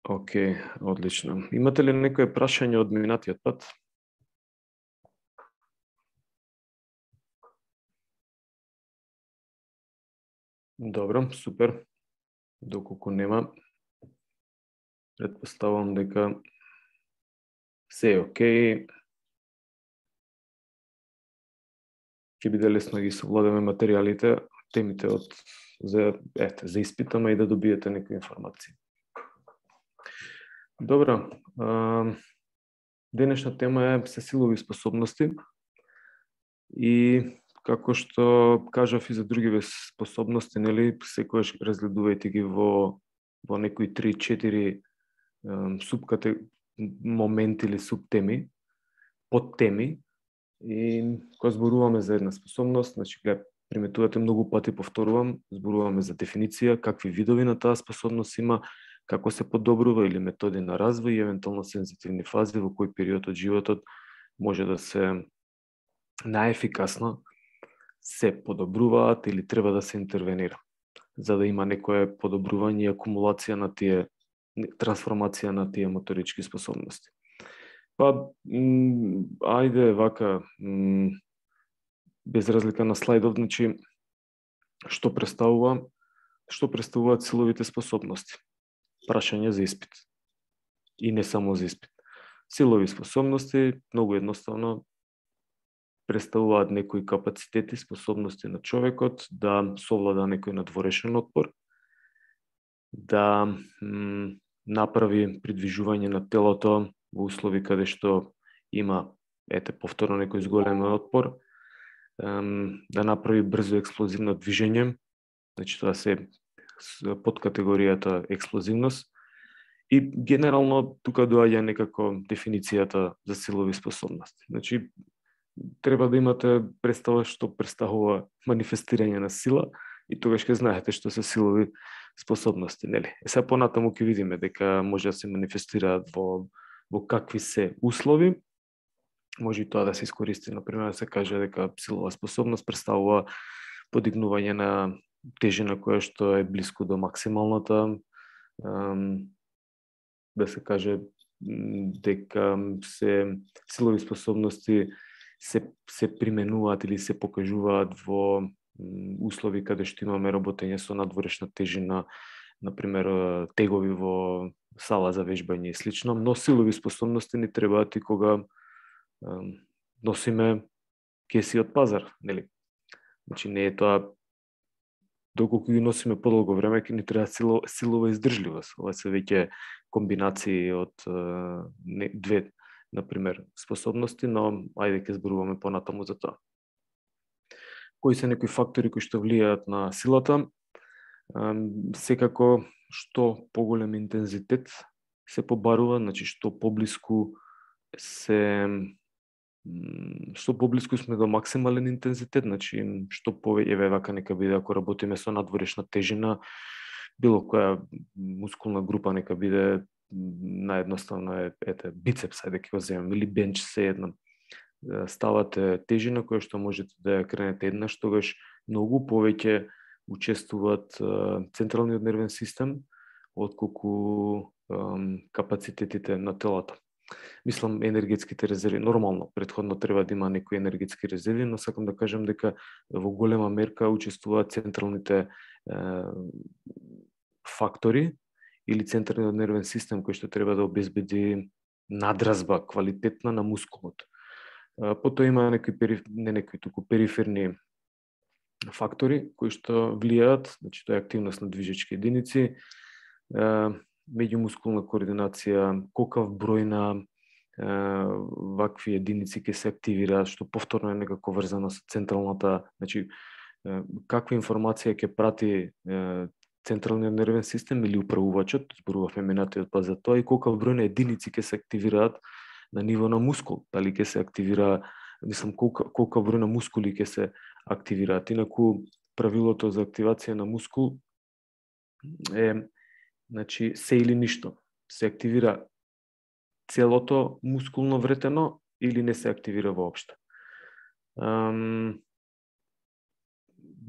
Океј, одлично. Имате ли некое прашање од минатиот пат? Добро, супер. Доколку нема, претпоставувам дека се е океј. Ќе биде лесно да ги совладаме материјалите, темите за испитама и да добиете некои информации. Добро, денешна тема е се силови способности и како што кажав и за другиве способности, нели, секогаш разгледувајте ги во некои 3-4 моменти или субтеми, подтеми. И кога зборуваме за една способност, значи приметувате многу пати повторувам, зборуваме за дефиниција, какви видови на таа способност има, како се подобрува или методи на развој и евентуално сензитивни фази во кој период од животот може да се најефикасно се подобруваат или треба да се интервенира, за да има некое подобрување и акумулација на тие, трансформација на тие моторички способности. Па, ајде вака, без разлика на слайдов, значи, што представуваат силовите способности? Прашање за испит. И не само за испит. Силови способности, многу едноставно, представуваат некои капацитети, способности на човекот да совлада некој надворешен отпор, да направи придвижување на телото во услови каде што има, повторно некој зголемен отпор, да направи брзо експлозивно движење, значи тоа се под категоријата експлозивност, и генерално тука доаѓа некако дефиницијата за силови способности. Значи, треба да имате представа што представува манифестирање на сила и тогаш ќе знаете што се силови способности, нели? Сега понатаму ќе видиме дека може да се манифестираат во какви се услови. Може и тоа да се искористи, например, да се каже дека силова способност представува подигнување на тежина која што е блиску до максималната, да се каже дека се силови способности се применуваат или се покажуваат во услови каде што имаме работење со надворешна тежина, например, тегови во сала за вежбање и слично, но силови способности ни требаат и кога носиме кеси од пазар, нели? Значи не е тоа, доколку ги носиме подолго време, ќе ни треба силова издржливост. Ова се веќе комбинации од две, например, способности, но ајде ќе зборуваме понатаму за тоа. Кои се некои фактори кои што влијаат на силата? Секако што поголем интензитет се побарува, значи што поблиску сме до максимален интензитет, значи што повеќе вака нека биде ако работиме со надворешна тежина, било која мускулна група нека биде наједноставно бицепс, ајде ќе го земеме, или бенч, се едно. Ставате тежина која што можете да ја кренете еднаш, тогаш многу повеќе учествуваат централниот нервен систем отколку капацитетите на телото. Мислам енергетските резерви. Нормално, претходно треба да има некои енергетски резерви, но сакам да кажам дека во голема мерка учествуваат централните фактори или централниот нервен систем кој што треба да обезбеди надразба квалитетна на мускулот. Потоа има туку периферни фактори кои што влијаат, значи тоа е активност на движечки единици, меѓумускулна координација, колкав број на вакви единици ќе се активираат, што повторно е некако врзано со централната, значи каква информација ќе прати централниот нервен систем или управувачот, зборувавме минатиот пат за тоа, и колкав број на единици ќе се активираат на ниво на мускул, дали ќе се активира, мислам, колкав број на мускули ќе се активираат. Инаку правилото за активација на мускул е, значи, се или ништо. Се активира целото мускулно вретено или не се активира воопшто.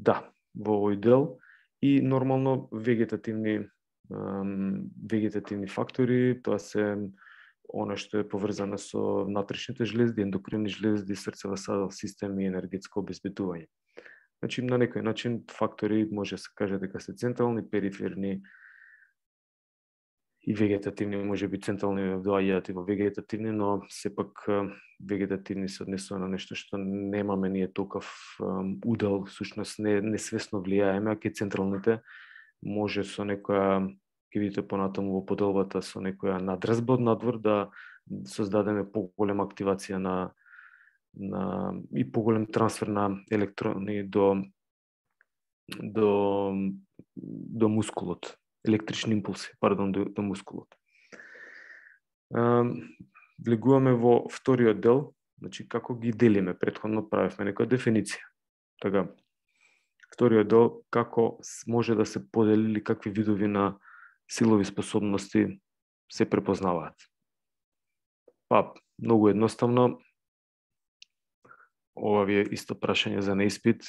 Да, во овој дел и нормално вегетативни вегетативни фактори, тоа се оно што е поврзано со внатрешните жлезди, ендокринни жлезди, срцево-садов систем и енергетско обезбедување. Значи, на некој начин фактори може да се каже дека се централни, периферни и вегетативни, може би централни доаѓаат и во вегетативни, но сепак вегетативни се однесува на нешто што немаме ние толков удел, всушност несвесно влијаеме, а ке централните може со некоја, ќе видите понатаму во поделбата, со некоја надразба од надвор да создадеме поголема активација на и поголем трансфер на електрони до мускулот, електрични импулси, до мускулот. Влегуваме во вториот дел, значи како ги делиме, претходно правевме некоја дефиниција. Така, вториот дел, како може да се подели или какви видови на силови способности се препознаваат. Па, многу едноставно, ова ви е исто прашање за на испит.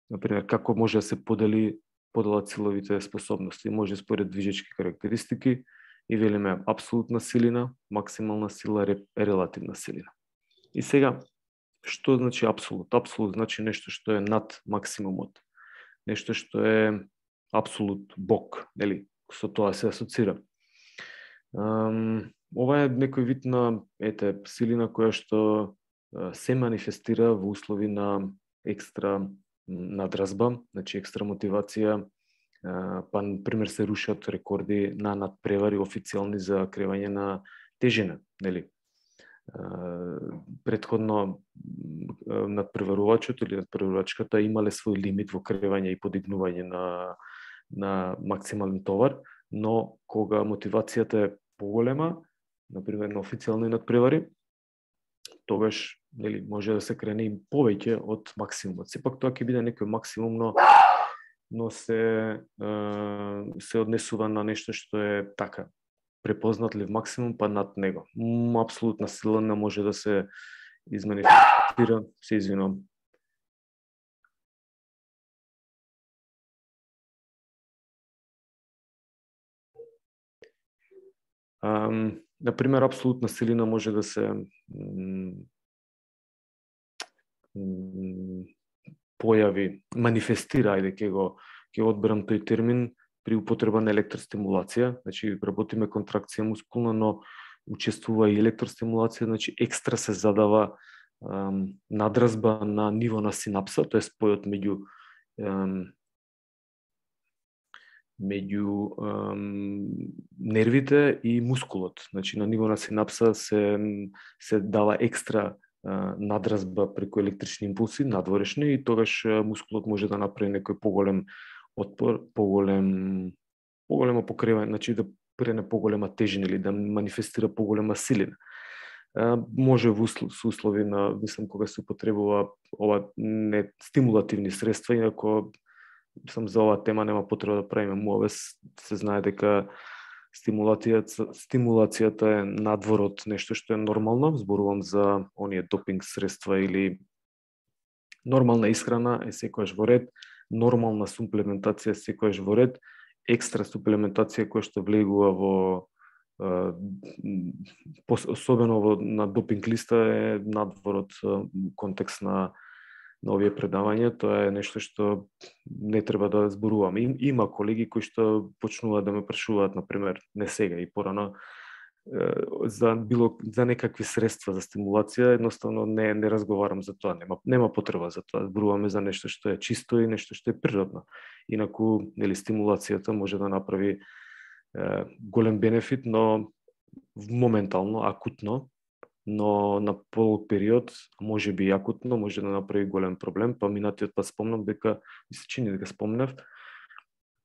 Например, како може да се поделат силовите способности? Може според движечки карактеристики и велиме апсолутна силина, максимална сила, релативна силина. И сега, што значи апсолут? Апсолут значи нешто што е над максимумот. Нешто што е апсолут Бог, нели? Со тоа се асоцира. Ова е некој вид на силина која што се манифестира во услови на екстра надразба, значи екстра мотивација, па например се рушат рекорди на надпревари официјални за кревање на тежина, нели? Претходно надпреварувачот или надпреварувачката имале свој лимит во кревање и подигнување на максимален товар, но кога мотивацијата е поголема, например на официјални надпревари, тогаш нели може да се крене и повеќе од максимумот. Сепак тоа ќе биде некој максимум, но се однесува на нешто што е така препознатлив максимум, па над него. Апсолутна сила не може да се изманифестира, се извинувам. Например, апсолутна силина може да се појави, манифестира, ќе го одберам тој термин, при употреба на електростимулација, значи работиме контракција мускулна, но учествува и електростимулација, значи екстра се задава надразба на ниво на синапса, тоа е спојот меѓу нервите и мускулот. Значи на ниво на синапса се дава екстра надразба преку електрични импулси, надворешни, и тогаш мускулот може да направи некој поголем отпор, поголемо покривање, значи да прене поголема тежина или да манифестира поголема силина. Може во услови на, мислам, кога се употребува ова не стимулативни средства, инако за оваа тема нема потреба да правиме муавез, се знае дека стимулацијата е надвор од нешто што е нормално, зборувам за оние допинг средства или нормална исхрана е секојаш во ред, нормална суплементација е секојаш во ред, екстра суплементација која што влегува во особено на допинг листа е надвор од контекст на овие предавања, тоа е нешто што не треба да зборуваме. Има колеги кои што почнуваат да ме прашуваат, например, не сега и порано, за некакви средства за стимулација, едноставно не разговарам за тоа, нема потреба за тоа. Зборуваме за нешто што е чисто и нешто што е природно. Инаку, нели, стимулацијата може да направи голем бенефит, но моментално, акутно, но на полог период, може би акутно, може да направи голем проблем. Па минатиот пат спомнам дека, ми се чини дека спомнав,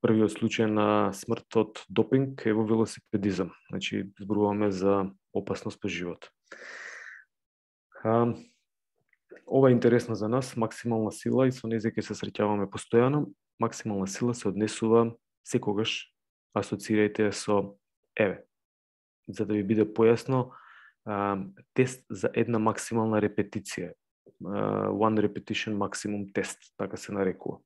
првиот случај на смрт од допинг е во велосипедизам. Значи, зборуваме за опасност по живот. Ова е интересно за нас, максимална сила, и со нејзе ќе се среќаваме постојано. Максимална сила се однесува секогаш, асоцирајте со за да ви биде појасно, тест за една максимална репетиција. One repetition maximum test, така се нарекува.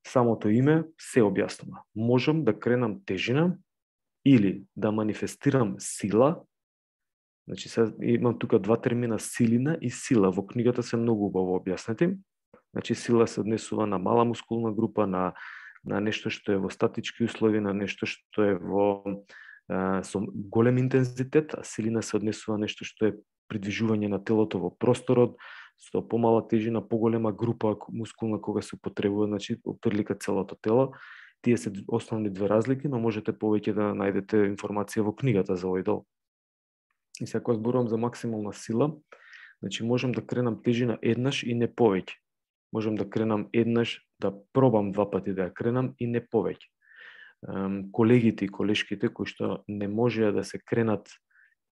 самото име се објаснува. Можам да кренам тежина или да манифестирам сила. Значи, имам тука два термина, силина и сила. Во книгата се многу убаво објаснети. Значи, сила се однесува на мала мускулна група, на нешто што е во статички услови, на нешто што е со голем интензитет, а силина се однесува на нешто што е придвижување на телото во просторот, со помала тежина, поголема група мускулна кога се употребува, значи, опрлика целото тело. Тие се основни две разлики, но можете повеќе да најдете информација во книгата за овој дел. И сега кога зборувам за максимална сила, значи можам да кренам тежина еднаш и не повеќе. Можам да кренам еднаш, да пробам два пати да ја кренам и не повеќе. Колегите и колешките кои што не можеа да се кренат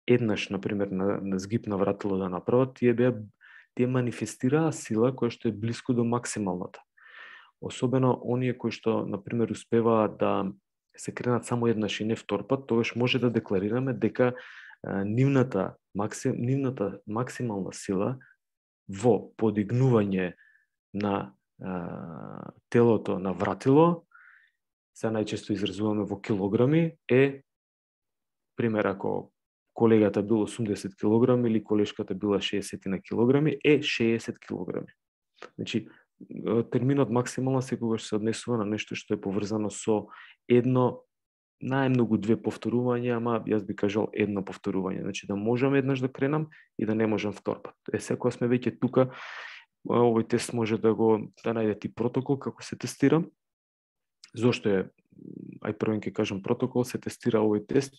еднаш, например, на згиб на вратило да направат, тие манифестираа сила која што е блиску до максималната. Особено оние кои што, например, успеваат да се кренат само еднаш и не втор пат, тогаш може да декларираме дека нивната максимална сила во подигнување на телото на вратило, се најчесто изразуваме во килограми, пример, ако колегата бил 80 килограми или колешката била 60 на килограми, 60 килограми. Значи, терминот максимална секогаш се однесува на нешто што е поврзано со едно, најмногу две повторувања, ама јас би кажал едно повторување. Значи, да можам еднаш да кренам и да не можам втор пат. Секоја сме веќе тука, овој тест може да најдете и протокол како се тестира. Зошто е, првен ќе кажам протокол, се тестира овој тест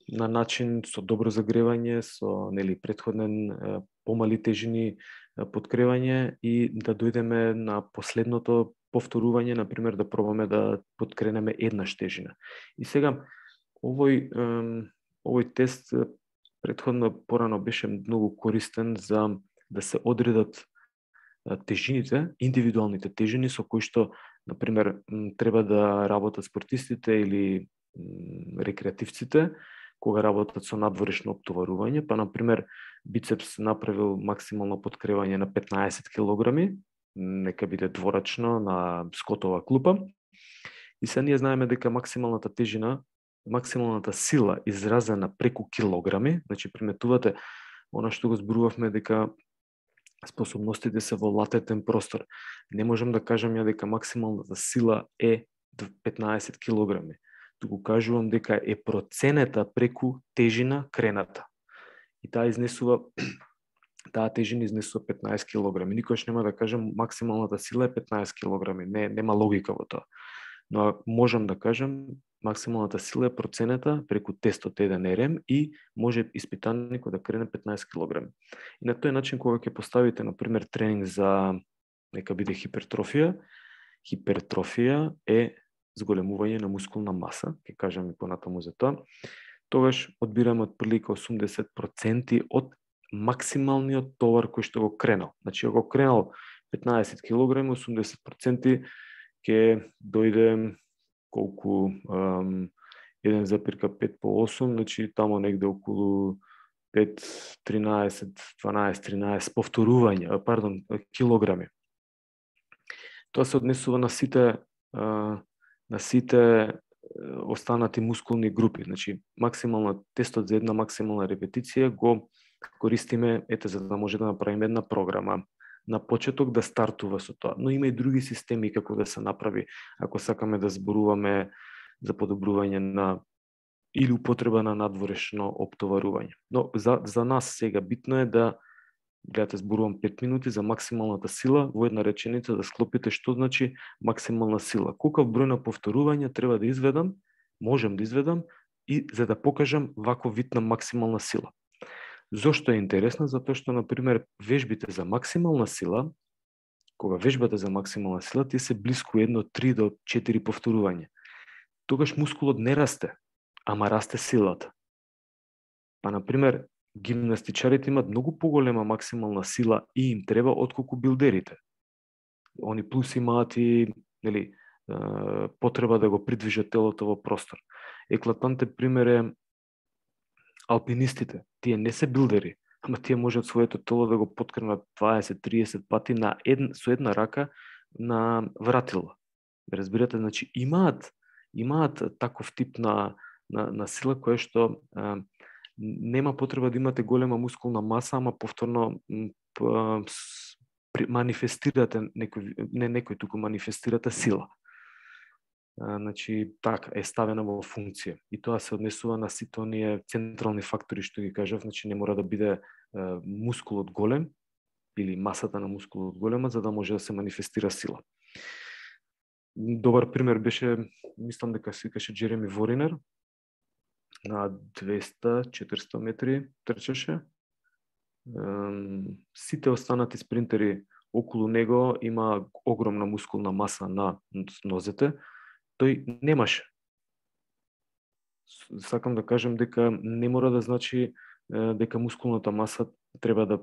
на начин со добро загревање, со претходен помали тежини подкревање и да дојдеме на последното повторување, например, да пробаме да подкренеме еднаш тежина. И сега, овој тест порано беше многу користен за да се одредат тежините, индивидуалните тежини со кои што, например, треба да работат спортистите или рекреативците, кога работат со надворешно оптоварување, па, например, бицепс направил максимално подкревање на 15 килограми, нека биде дворачно на скотова клупа, и се ние знаеме дека максималната тежина, максималната сила изразена преку килограми, значи приметувате она што го зборувавме дека способностите се во латентен простор. Не можам да кажам ја дека максималната сила е 15 килограми. Туку кажувам дека е проценета преку тежина крената. И таа тежина изнесува 15 килограми. Никош нема да кажам максималната сила е 15 килограми. Нема логика во тоа. Но можам да кажам максималната сила е проценета преку тестот 1RM и може испитаникот да крене 15 килограми. И на тој начин кога ќе поставите, например, тренинг за нека биде хипертрофија е зголемување на мускулна маса, ќе кажам и понатаму за тоа, тогаш одбираме отприлика 80% од максималниот товар кој што го кренал. Значи, ако го кренал 15 килограми, 80% ќе дојде колку 1,5 по 8, значи тамо негде околу 5, 13, 12, 13 повторувања, килограми. Тоа се однесува на сите останати мускулни групи. Значи, тестот за една максимална репетиција го користиме за да може да направиме една програма. На почеток да стартува со тоа. Но има и други системи како да се направи, ако сакаме да зборуваме за подобрување или употреба на надворешно оптоварување. Но за нас сега битно е да, гледате, зборувам 5 минути за максималната сила, во една реченица да склопите што значи максимална сила. Колкав број на повторувања треба да изведам, можам да изведам, и за да покажам ваков вид на максимална сила. Зошто е интересно? Затоа што, например, вежбите за максимална сила, кога вежбате за максимална сила, тие се блиску 3 до 4 повторувања. Тогаш мускулот не расте, ама расте силата. Па, например, гимнастичарите имат многу поголема максимална сила и им треба отколку билдерите. Они плюс имаат и потреба да го придвижат телото во простор. Еклатантен пример е алпинистите. Тие не се билдери, ама тие можат своето тело да го поткренат 20-30 пати со една рака на вратила. Разбирате, значи имаат таков тип на сила која што нема потреба да имате голема мускулна маса, ама повторно манифестирате некој туку манифестирате сила. Значи, така, е ставена во функција. И тоа се однесува на сите оние централни фактори што ги кажав, значи не мора да биде мускулот голем или масата на мускулот голема за да може да се манифестира сила. Добар пример беше, мислам дека се викаше Джереми Воринер, на 200-400 метри трчаше. Сите останати спринтери околу него има огромна мускулна маса на нозете, тој немаше. Сакам да кажем дека не мора да значи дека мускулната маса треба да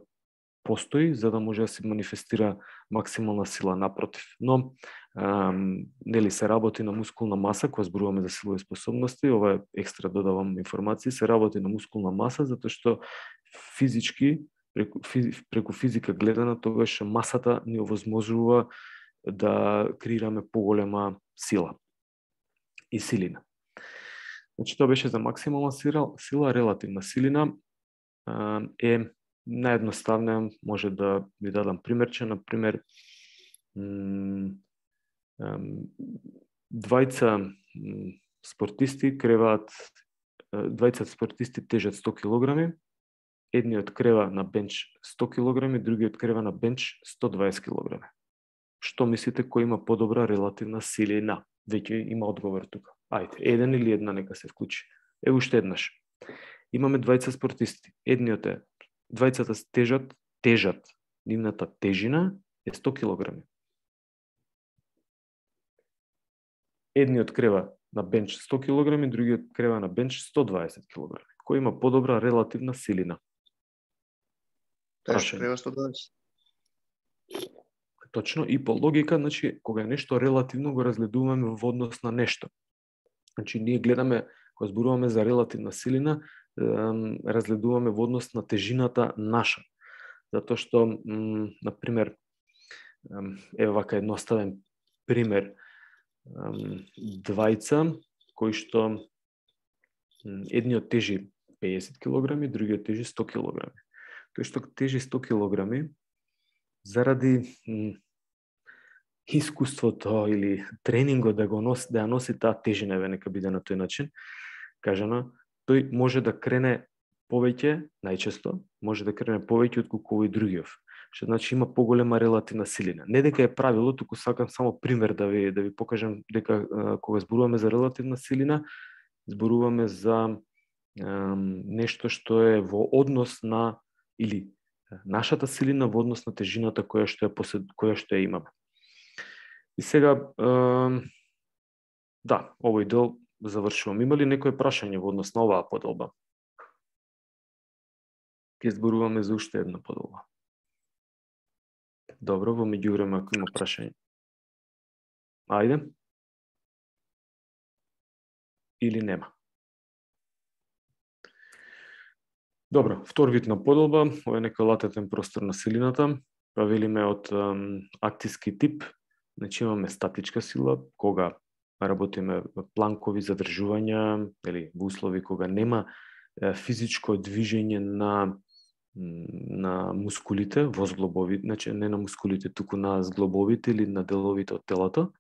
постои за да може да се манифестира максимална сила, напротив. Но нели се работи на мускулна маса, кога зборуваме за силови способности, ова е екстра додавам информации, се работи на мускулна маса затоа што физички преку физика гледана тогаш масата ни овозможува да креираме поголема сила и силина. Значи тоа беше за максимална сила, релативна силина е наједноставно, може да ви дадам примерче, например, двајца спортисти тежат 100 кг, едниот крева на бенч 100 кг, другиот крева на бенч 120 кг. Што мислите кој има подобра релативна силина? Веќе има одговор тука. Ајде, еден или една нека се вклучи. Уште еднаш. Имаме двајца спортисти. Двајцата тежат, нивната тежина е 100 кг. Едниот крева на бенч 100 кг, другиот крева на бенч 120 кг. Кој има подобра релативна силина? Тој крева 120. Точно, и по логика, значи, кога е нешто релативно, го разгледуваме во однос на нешто. Значи, ние гледаме, кога зборуваме за релативна силина, разгледуваме во однос на тежината наша. Затоа што, например, вака едноставен пример, двајца кои што едниот тежи 50 кг, другиот тежи 100 кг. Тој што тежи 100 кг, заради искуството или тренингот да ја носи таа тежина, нека биде на тој начин кажано, тој може да крене повеќе, најчесто, може да крене повеќе отколку овој другиот. Што значи има поголема релативна силина. Не дека е правило, туку сакам само пример да ви покажам дека кога зборуваме за релативна силина, зборуваме за нешто што е во однос на или нашата силина во однос на тежината која што ја имаме. И сега да, овој дел завршувам. Има ли некој прашање во однос на оваа поделба? Ке зборуваме за уште една поделба. Добро, во меѓувреме ако има прашање. Ајде. Или нема. Добро, втор вид на поделба, ова е некој латентен простор на силината. Па велиме од актиски тип, значи имаме статичка сила, кога работиме планкови задржувања, или во услови кога нема физичко движење на мускулите во зглобовите, значи не на мускулите, туку на зглобовите или на деловите од телото,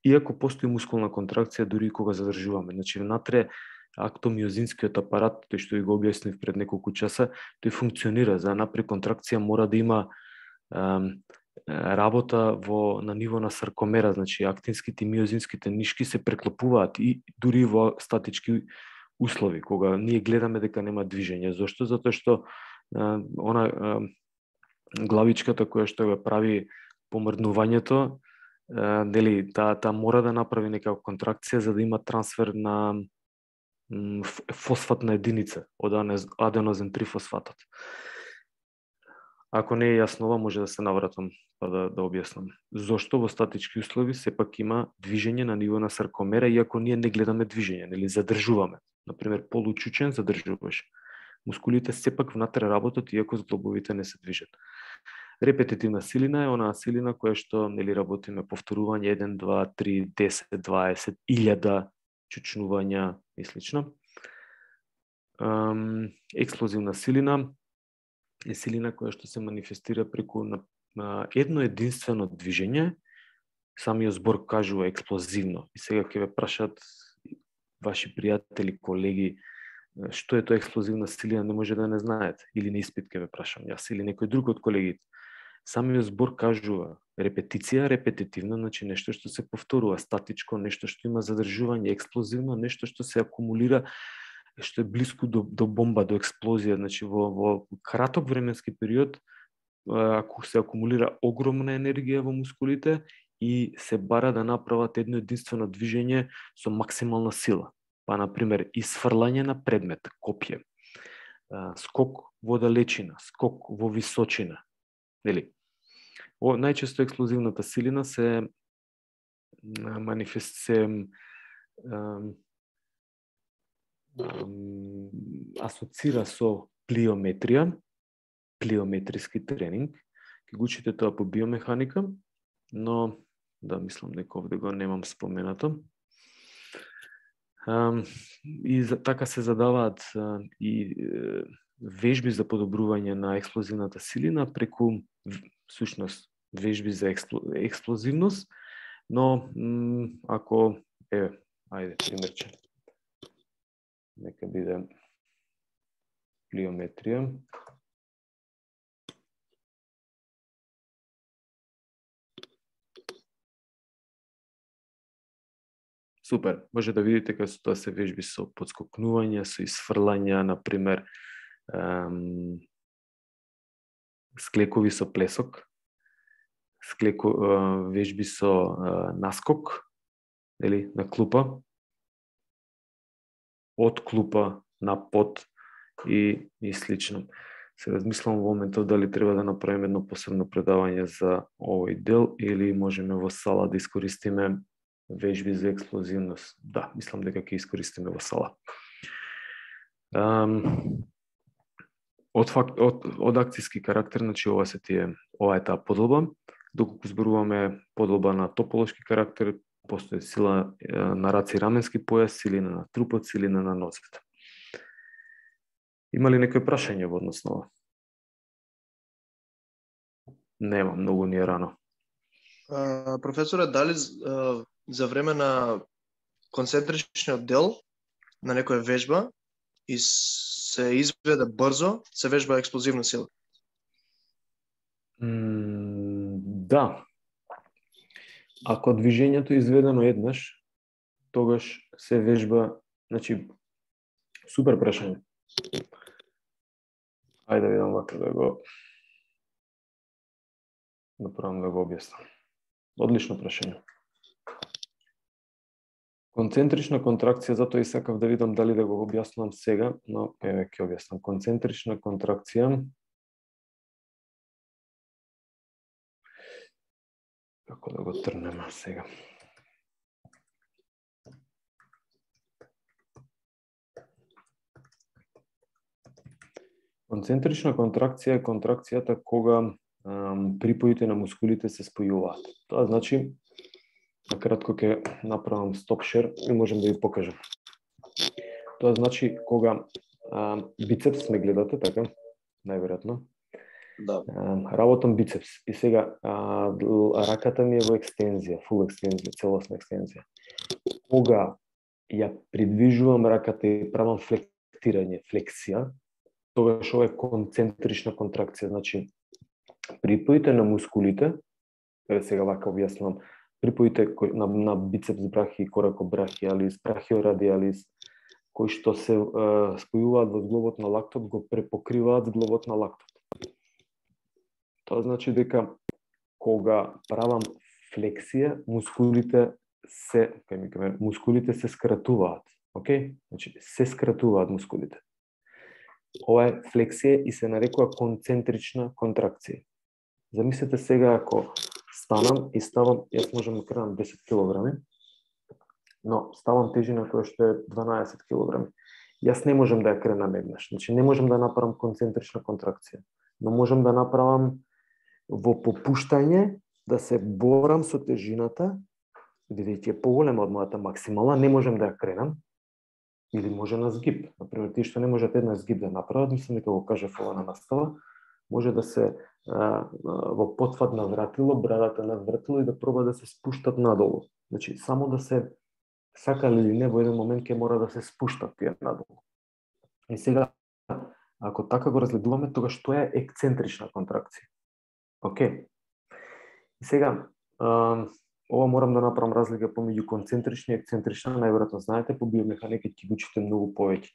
иако постои мускулна контракција дури кога задржуваме. Значи внатре актомиозинскиот апарат, тој што ви го објаснив пред неколку часа, тој функционира. За напри контракција мора да има работа на ниво на саркомера, значи актинските и миозинските нишки се преклопуваат и дури во статички услови, кога ние гледаме дека нема движење. Зошто? Затоа што она главичката која што го прави помрднувањето, дели таа мора да направи некаква контракција за да има трансфер на фосфатна единица од аденозин трифосфатот. Ако не е јасно ова, може да се навратам па да објаснам. Зошто во статички услови сепак има движење на ниво на саркомера, иако ние не гледаме движење, нели задржуваме. Например, получучен задржуваш. Мускулите сепак внатре работат, иако зглобовите не се движат. Репетитивна силина е онаа силина која што нели работиме повторување 1, 2, 3, 10, 20, 1000 чучнувања и слично. Експлозивна силина е силина која што се манифестира преку едно единствено движење. Самиот збор кажува експлозивно. И сега ќе ве прашат ваши пријатели, колеги, што е тоа експлозивна силина, не може да не знаете. Или на испит ќе ве прашам јас, или некој друг од колегите. Самиот збор кажува репетиција, репетитивно, значи нешто што се повторува, статичко, нешто што има задржување, експлозивно, нешто што се акумулира, што е близко до бомба, до експлозија, значи во краток временски период ако се акумулира огромна енергија во мускулите и се бара да направат едно единствено движење со максимална сила. Па, например, исфрлање на предмет, копје, скок во далечина, скок во височина. Нели? Најчесто експлозивната силина се асоцира со плиометрија, плиометриски тренинг. Ќе го учите тоа по биомеханика, но да, мислам дека овде го немам споменато. И така се задаваат и вежби за подобрување на експлозивната силина преку сушност вежби за експлозивност, но ако ајде примерче, нека биде плиометрија. Супер, може да видите како тоа се вежби со подскокнување, со исфрлања, например, склекови со плесок, вежби со наскок, или на клупа, од клупа на под и слично. Се размислам во моментов дали треба да направиме едно посебно предавање за овој дел или можеме во сала да искористиме вежби за експлозивност. Да, мислам дека ќе искористиме во сала. Од акцијски карактер, значи ова е таа поделба. Доколку зборуваме поделба на тополошки карактер, постои сила на раце и раменски појас, силина на трупот, силина на нозете. Има ли некој прашање во однос на ова? Нема, многу ни е рано. Професоре, дали за време на концентричниот дел на некоја вежба и се изведе брзо, се вежба експлозивна сила? Да. Ако движењето е изведено еднаш, тогаш се вежба, значи, супер прашање. Ајде да видам вака да го направам да го објаснам. Одлично прашање. Концентрична контракција, затоа и сакав да видам дали да го објаснам сега, но еве ќе објаснам. Концентрична контракција. Како да го трнеме сега? Концентрична контракција е контракцијата кога припоите на мускулите се спојуваат. Тоа значи, накратко ќе направам стоп шер и можем да ви покажам. Тоа значи кога бицепс ме гледате, така, најверојатно. Да. Работам бицепс и сега раката ми е во екстензија, фул екстензија, целосна екстензија. Кога ја придвижувам раката и правам флектирање, флексија, тогаш ова е концентрична контракција, значи припоите на мускулите, сега вака објаснувам, припоите на бицепс брахи, коракобрахиалис, брахиорадиалис, кои што се спојуваат во зглобот на лактот, го препокриваат зглобот на лактот. Тоа значи дека кога правам флексија, мускулите се скратуваат, окей? Значи се скратуваат мускулите. Ова е флексија и се нарекува концентрична контракција. Замислете сега ако станам и ставам, јас можам да кренам 10 килограми, но ставам тежина која што е 12 килограми. Јас не можам да ја кренам еднаш, значи не можам да направам концентрична контракција, но можам да направам во попуштање да се борам со тежината, бидејќи е поголема од мојата максимална, не можам да ја кренам, или може на згиб. Например, тие што не можат една згиб да направат, мислам дека го кажав ова на настава, може да се во потфат на вратило, брадата на вратило и да проба да се спуштат надолу. Значи, само да се сакали или не, во еден момент ќе мора да се спуштат тие надолу. И сега, ако така го разгледуваме, тогаш тоа е ексцентрична контракција. Океј. И сега, ова морам да направам разлика помеѓу концентрична и ексцентрична, најверојатно знаете, по биомеханика ќе го учите многу повеќе.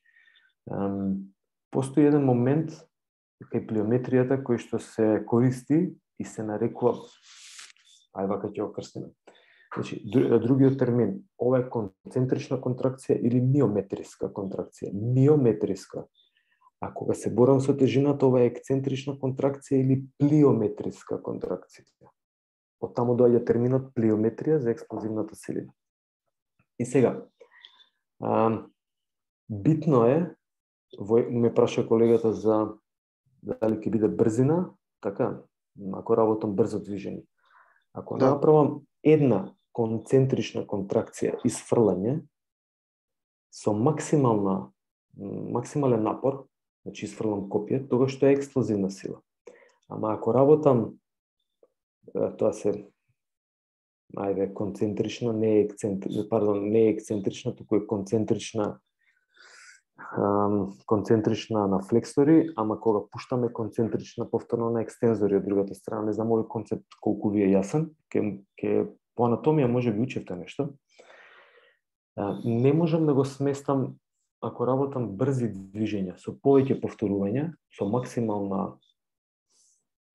Постои еден момент кај плиометријата кој што се користи и се нарекува, вака ќе го крстиме. Значи, другиот термин, ова е концентрична контракција или миометриска контракција. Миометриска. А кога се борам со тежината, ова е ексцентрична контракција или плиометриска контракција. Од таму доаѓа терминот плиометрија за експлозивната силина. И сега, битно е, ме праша колегата за дали ќе биде брзина, така, ако работам брзо движење. Ако направам една концентрична контракција изфрлање со максимален напор, значи изфрлам копие, тогаш тоа е експлозивна сила. Ама ако работам, тоа се концентрична, не е ексцентрична, туку е концентрична на флексори, ама кога пуштаме концентрична повторно на екстензори од другата страна. Не знам овој концепт колку ви е јасен, ке по анатомија може би учевте нешто. Не можам да го сместам, ако работам брзи движења со повеќе повторувања, со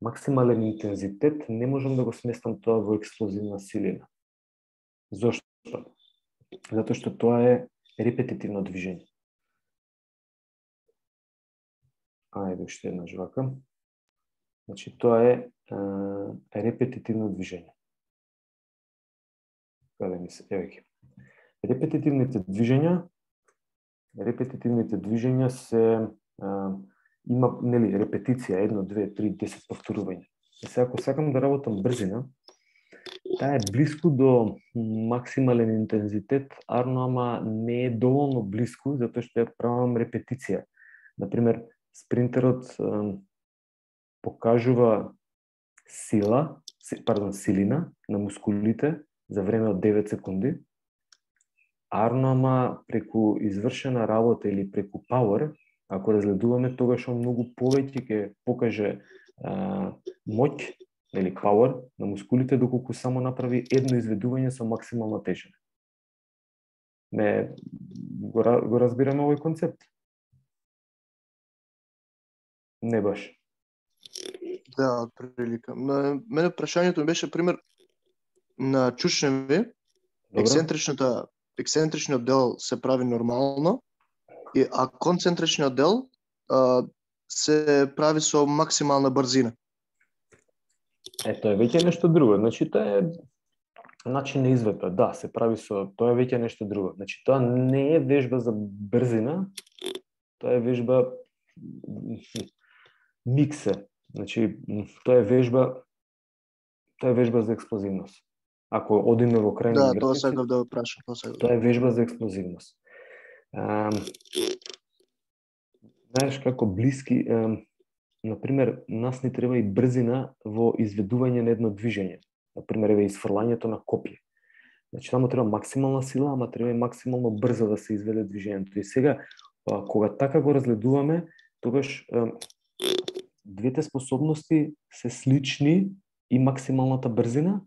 максимален интензитет, не можам да го сместам тоа во експлозивна силина. Зошто? Затоа што тоа е репетитивно движење. Ајде уште една жвака. Значи, тоа е репетитивно движење. Каде ми се? Еве. Репетитивните движења се има, нели, репетиција, 1, 2, 3, 10 повторувања. И сега, ако сакам да работам брзина, таа е близко до максимален интензитет, ама не е доволно близко, затоа што ја правам репетиција. Например, спринтерот покажува силина на мускулите за време од 9 секунди, ама преку извршена работа или преку power, ако разгледуваме, тогаш он многу повеќе ќе покаже моќ или power на мускулите, доколку само направи едно изведување со максимална тежина. Го разбираме овој концепт? Не баш. Да, отприлика. Мене прашањето ми беше пример на чучневи, ексцентричниот дел се прави нормално, а концентричниот дел се прави со максимална брзина. Тоа е веќе нешто друго. Значи, тоа е начин на изведба. Да, се прави со... Тоа е веќе нешто друго. Значи, тоа не е вежба за брзина, тоа е вежба миксе. Значи, тоа е вежба за експлозивност. Ако одиме во крајни граници... Да, тоа сакав да го прашам. Тоа е вежба за експлозивност. Знаеш како блиски... Например, нас ни треба и брзина во изведување на едно движење. Например, еве изфрлањето на копие. Значи, таму треба максимална сила, ама треба и максимално брзо да се изведе движењето. И сега, кога така го разгледуваме, тогаш двете способности се слични, и максималната брзина,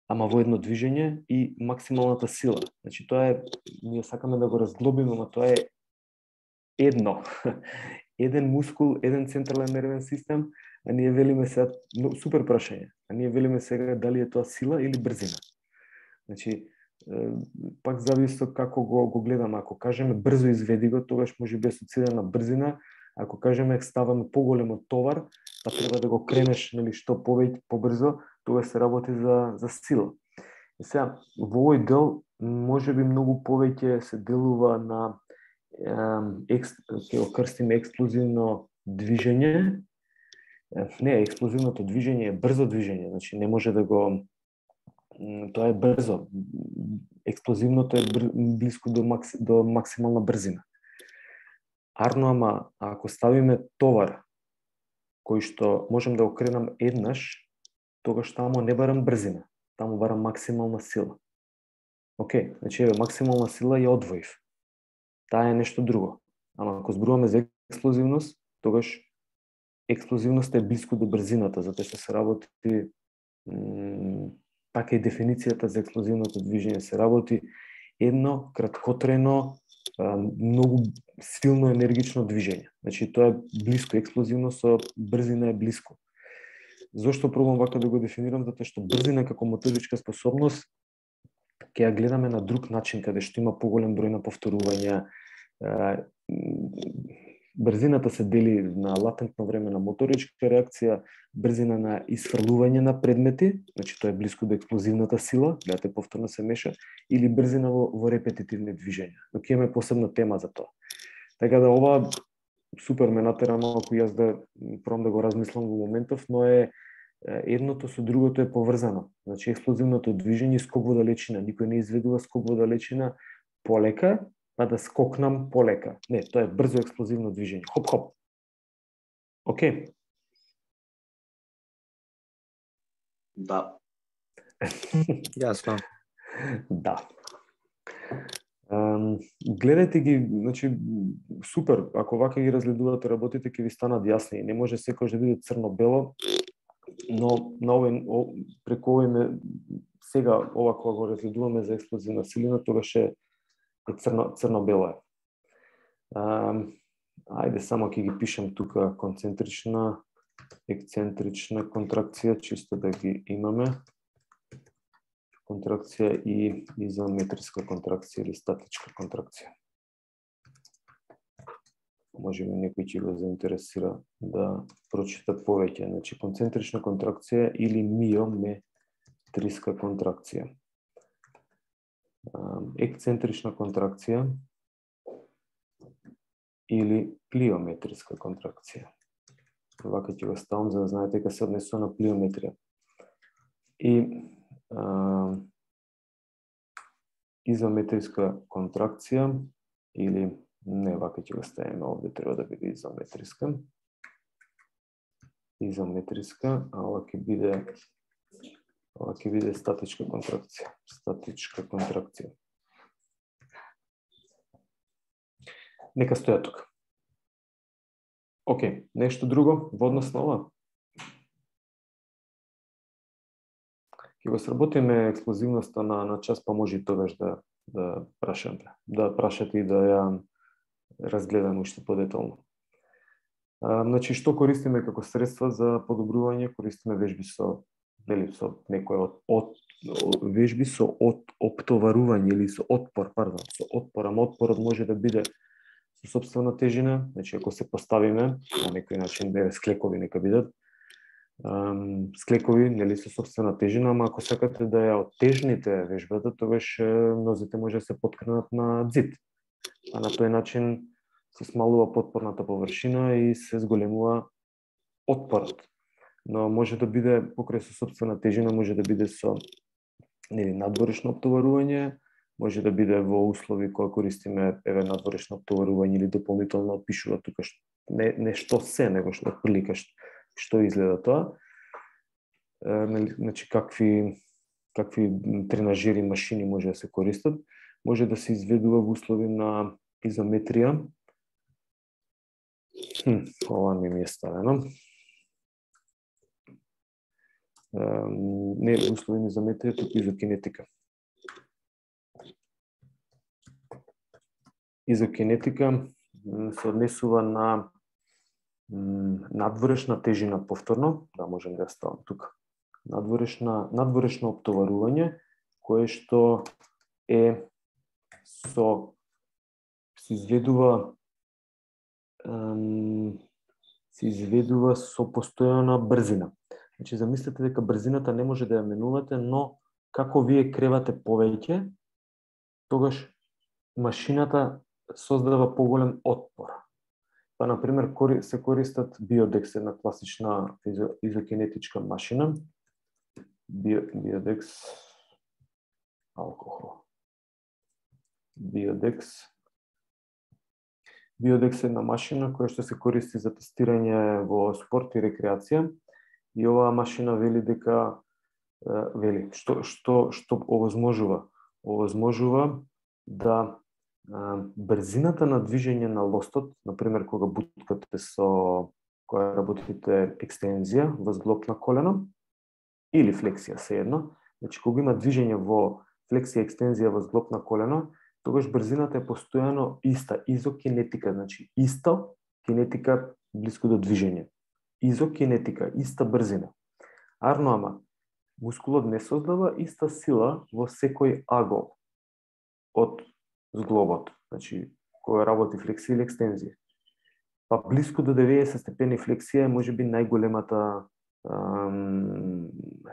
ама во едно движење, и максималната сила. Значи, тоа е, ние сакаме да го разглобиме, ама тоа е едно. Еден мускул, еден централен нервен систем, а ние велиме сега, супер прашање, а ние велиме сега дали е тоа сила или брзина. Значи, пак зависи од како го гледаме. Ако кажеме брзо изведи го, тогаш може би асоцирано на брзина. Ако кажеме ставаме поголем товар, па треба да го кренеш, нели, што повеќе побрзо, тогаш се работи за сила. И сега, во овој дел можеби многу повеќе се делува на ќе го крстиме експлозивно движење Не, експлозивното движење е брзо движење, значи не може да го тоа е брзо. Експлозивното е близко до максимална брзина. Арно, ама ако ставиме товар кој што можем да окренам еднаш, тогаш таму не барам брзина, таму барам максимална сила. Океј, значи еве максимална сила ја одвоив. Таа е нешто друго. Ама ако зборуваме за експлозивност, тогаш експлозивноста е близко до брзината, затоа што се работи така и дефиницијата за експлозивното движење се работи едно краткотрено, многу силно енергично движење. Значи тоа е близко, експлозивно со брзина е близко. Зошто пробам вака да го дефинирам? Затоа што брзина како моторичка способност ќе ја гледаме на друг начин, каде што има поголем број на повторувања. Брзината се дели на латентно време на моторичка реакција, брзина на исфрлување на предмети, значи тоа е близко до експлозивната сила, гледате повторно се меша, или брзина во репетитивни движења. Но ќе имаме посебна тема за тоа. Така да ова супер ме натера малку јас да пробам да го размислам во моментов, но е едното со другото е поврзано. Значи експлозивното движење скок во далечина, никој не изведува скок во далечина полека, па да скокнам полека. Не, тоа е брзо експлозивно движење. Хоп-хоп. Океј? Да. Јасно. Да. Гледајте ги, значи, супер, ако вака ги разгледувате работите, ќе ви станат јасни. Не може секој да биде црно-бело, но на преку овој сега ова кога го разгледуваме за експлозивна силина, тогаш е црно-бело е. Ајде само ќе ги пишем тука концентрична, ексцентрична контракција, чисто да ги имаме. Контракција и изометриска контракција или статичка контракција. Може би некој ќе го заинтересира да прочита повеќе. Значи, концентрична контракција или миометриска контракција. Ексцентрична контракција или плиометриска контракција. Вака ќе го ставам за да знаете дека се однесува на плиометрија. И изометриска контракција или не, вака ќе го ставиме овде, треба да биде изометриска. Изометриска, а ова ќе биде статичка контракција. Статичка контракција. Нека стоја тука. Океј, нешто друго во однос на ова? Ќе го сработиме експлозивноста на час, па може и тогаш да прашате и да ја разгледаме уште подетално. Значи, што користиме како средства за подобрување? Користиме вежби со некој вежби со оптоварување или со отпор, со отпор, ама отпорот може да биде со сопствена тежина, значи ако се поставиме на некој начин, склекови нека бидат, склекови, нели, со сопствена тежина, ама ако сакате да ја оттежните вежбата, тогаш нозите може да се поткнат на ѕид. А на тој начин се смалува потпорната површина и се зголемува отпорот. Но може да биде покрај со сопствена тежина, може да биде со надворешно оптоварување, може да биде во услови кога користиме надворешно оптоварување или дополнително опишува тука не што се, него што отприлика што изгледа тоа. Значи какви тренажери машини може да се користат, може да се изведува во услови на изометрија. Ова ми е ставено. Не во услови на изометрија, туку изокинетика. Изокинетика се однесува на надворешна тежина повторно, да можем да ја ставам тука. Надворешно оптоварување, кое што се изведува со постојана брзина. Значи, замислете дека брзината не може да ја менувате, но како вие кревате повеќе, тогаш машината создава поголем отпор. Па, например, се користат Biodex, една класична изокинетичка машина. Biodex алкохол. Biodex е една машина која што се користи за тестирање во спорт и рекреација. И оваа машина вели дека што овозможува? Овозможува да брзината на движење на лостот, например кога буткате кога работите екстензија во зглоб на колено или флексија, сеедно. Значи, кога има движење во флексија, екстензија во зглоб на колено, тогаш брзината е постојано иста, изокинетика, значи исто, кинетика блиску до движење. Изокинетика, иста брзина. Арно, ама, мускулот не создава иста сила во секој агол од зглобот, значи, која работи флексија или екстензија. Па блиску до 90 степени флексија е можеби најголемата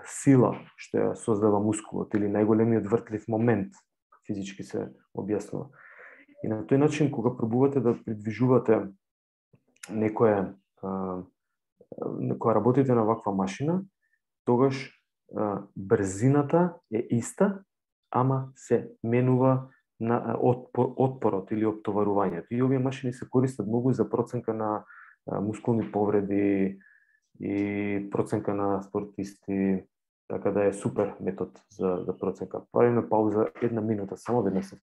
сила што ја создава мускулот или најголемиот вртлив момент, физички се објаснува. И на тој начин, кога пробувате да придвижувате кога работите на ваква машина, тогаш брзината е иста, ама се менува на отпорот или оптоварувањето. И овие машини се користат многу за проценка на мускулни повреди и проценка на спортисти, така да е супер метод за проценка. Правиме пауза 1 минута, само веднаш се.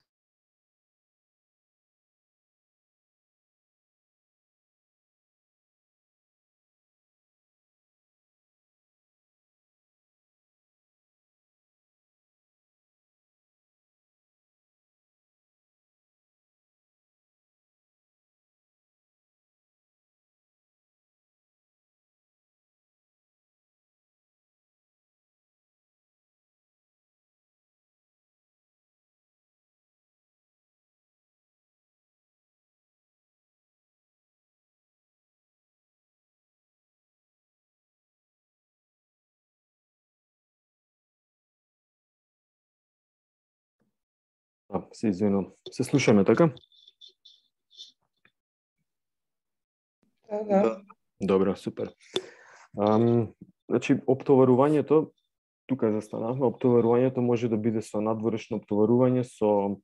Се извинувам. Се слушаме, така? Да. Добро, супер. Значи, оптоварувањето, тука застанавме, оптоварувањето може да биде со надворешно оптоварување, со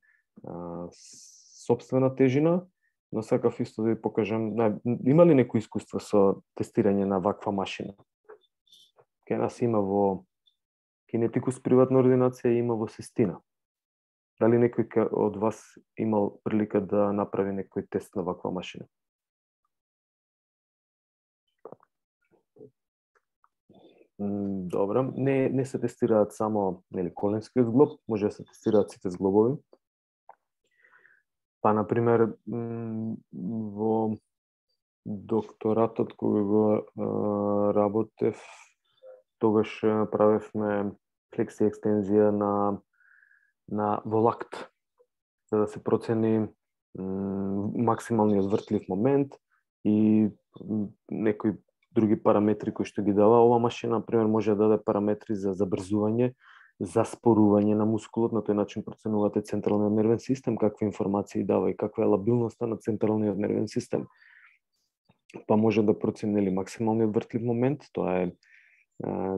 сопствена тежина, но сакав исто да ви покажам, има ли некој искуство со тестирање на ваква машина? Кај нас има во Кинетикус приватна ординација, има во Сестина. Дали некој од вас имал прилика да направи некој тест на ваква машина? Добро, не се тестираат само коленскиот зглоб, може да се тестираат сите зглобови. Па, например, во докторатот кога го работев, тогаш правевме флексија и екстензија во лакт, за да се процени максималниот вртлив момент и некои други параметри кои што ги дава. Ова машина, например, може да даде параметри за забрзување, за спорување на мускулот, на тој начин проценувате централниот нервен систем, какви информации дава и каква е лабилноста на централниот нервен систем. Па може да процени максималниот вртлив момент, тоа е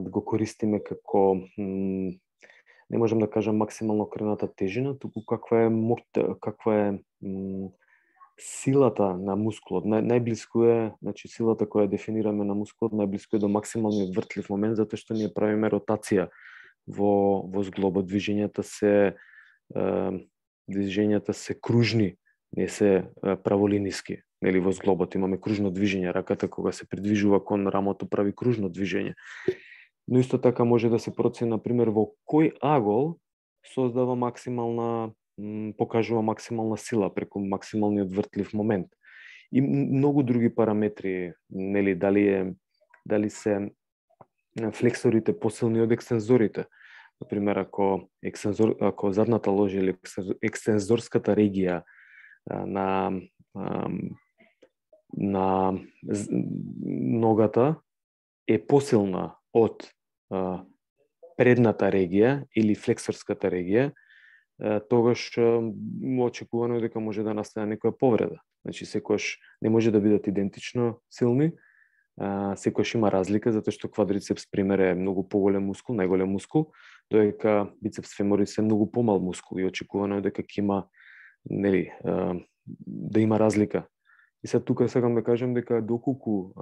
да го користиме како, не можам да кажам максимално крената тежина, туку каква е силата на мускулот. Најблиску е, значи силата која дефинираме на мускулот, најблиску е до максималниот вртлив момент, затоа што ние правиме ротација во зглобот. Движењата се кружни, не се праволиниски. Нели, во зглобот имаме кружно движење, раката кога се придвижува кон рамото прави кружно движење. Но исто така може да се процени, например, во кој агол создава покажува максимална сила преку максималниот вртлив момент. И многу други параметри, нели, дали се флексорите посилни од екстензорите. Например, ако задната ложа или екстензорската регија на ногата е посилна од предната регија или флексорската регија, тогаш очекувано е дека може да настане некоја повреда. Значи, секојаш не може да бидат идентично силни, секојаш има разлика, затоа што квадрицепс, пример, е многу поголем мускул, најголем мускул, додека бицепс феморис е многу помал мускул и очекувано е дека ќе има, нели, да има разлика. И сега тука сакам да кажам дека доколку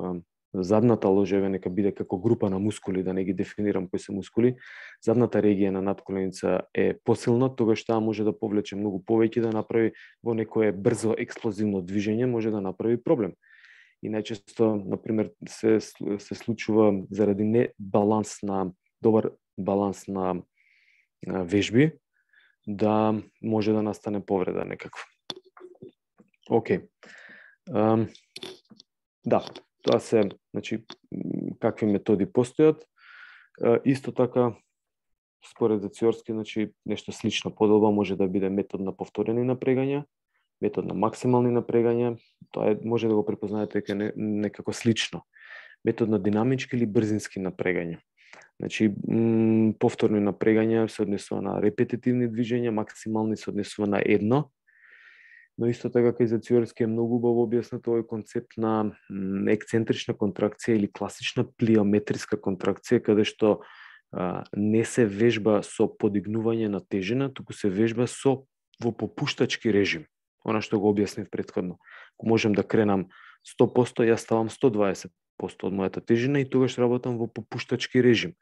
задната ложеве нека биде како група на мускули, да не ги дефинирам кои се мускули, задната регија на надколеница е посилна, тогаш таа може да повлече многу повеќе, да направи во некое брзо експлозивно движење, може да направи проблем. И најчесто, например, се случува заради добар баланс на вежби, да може да настане повреда некаква. Океј. Да, тоа се, значи, какви методи постојат. Исто така, според Зациорски, значи, нешто слично подоба може да биде метод на повторени напрегања, метод на максимални напрегања, тоа може да го препознаете дека некако слично. Метод на динамички или брзински напрегања. Значи, повторни напрегања се однесува на репетитивни движења, максимални се однесува на едно. Но исто така кај Зациорски е многу убаво објаснет овој концепт на ексцентрична контракција или класична плиометриска контракција, каде што не се вежба со подигнување на тежина, туку се вежба во попуштачки режим. Она што го објаснив претходно. Ако можам да кренам 100%, јас ставам 120% од мојата тежина и тогаш работам во попуштачки режим.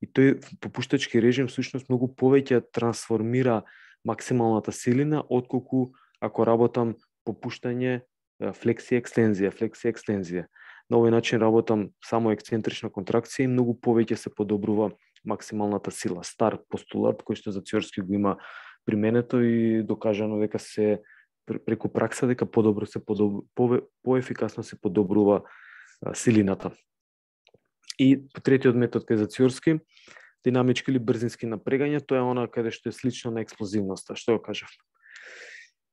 И тој попуштачки режим всушност многу повеќе трансформира максималната силина отколку ако работам попуштање, флексија-екстензија. На овој начин работам само ексцентрична контракција и многу повеќе се подобрува максималната сила. Стар постулат кој што Зациорски го има применето и докажано дека се преку пракса дека поефикасно се подобрува силината. И третиот метод кај Зациорски, динамички или брзински напрегања, тоа е она каде што е слично на експлозивноста, што го кажав.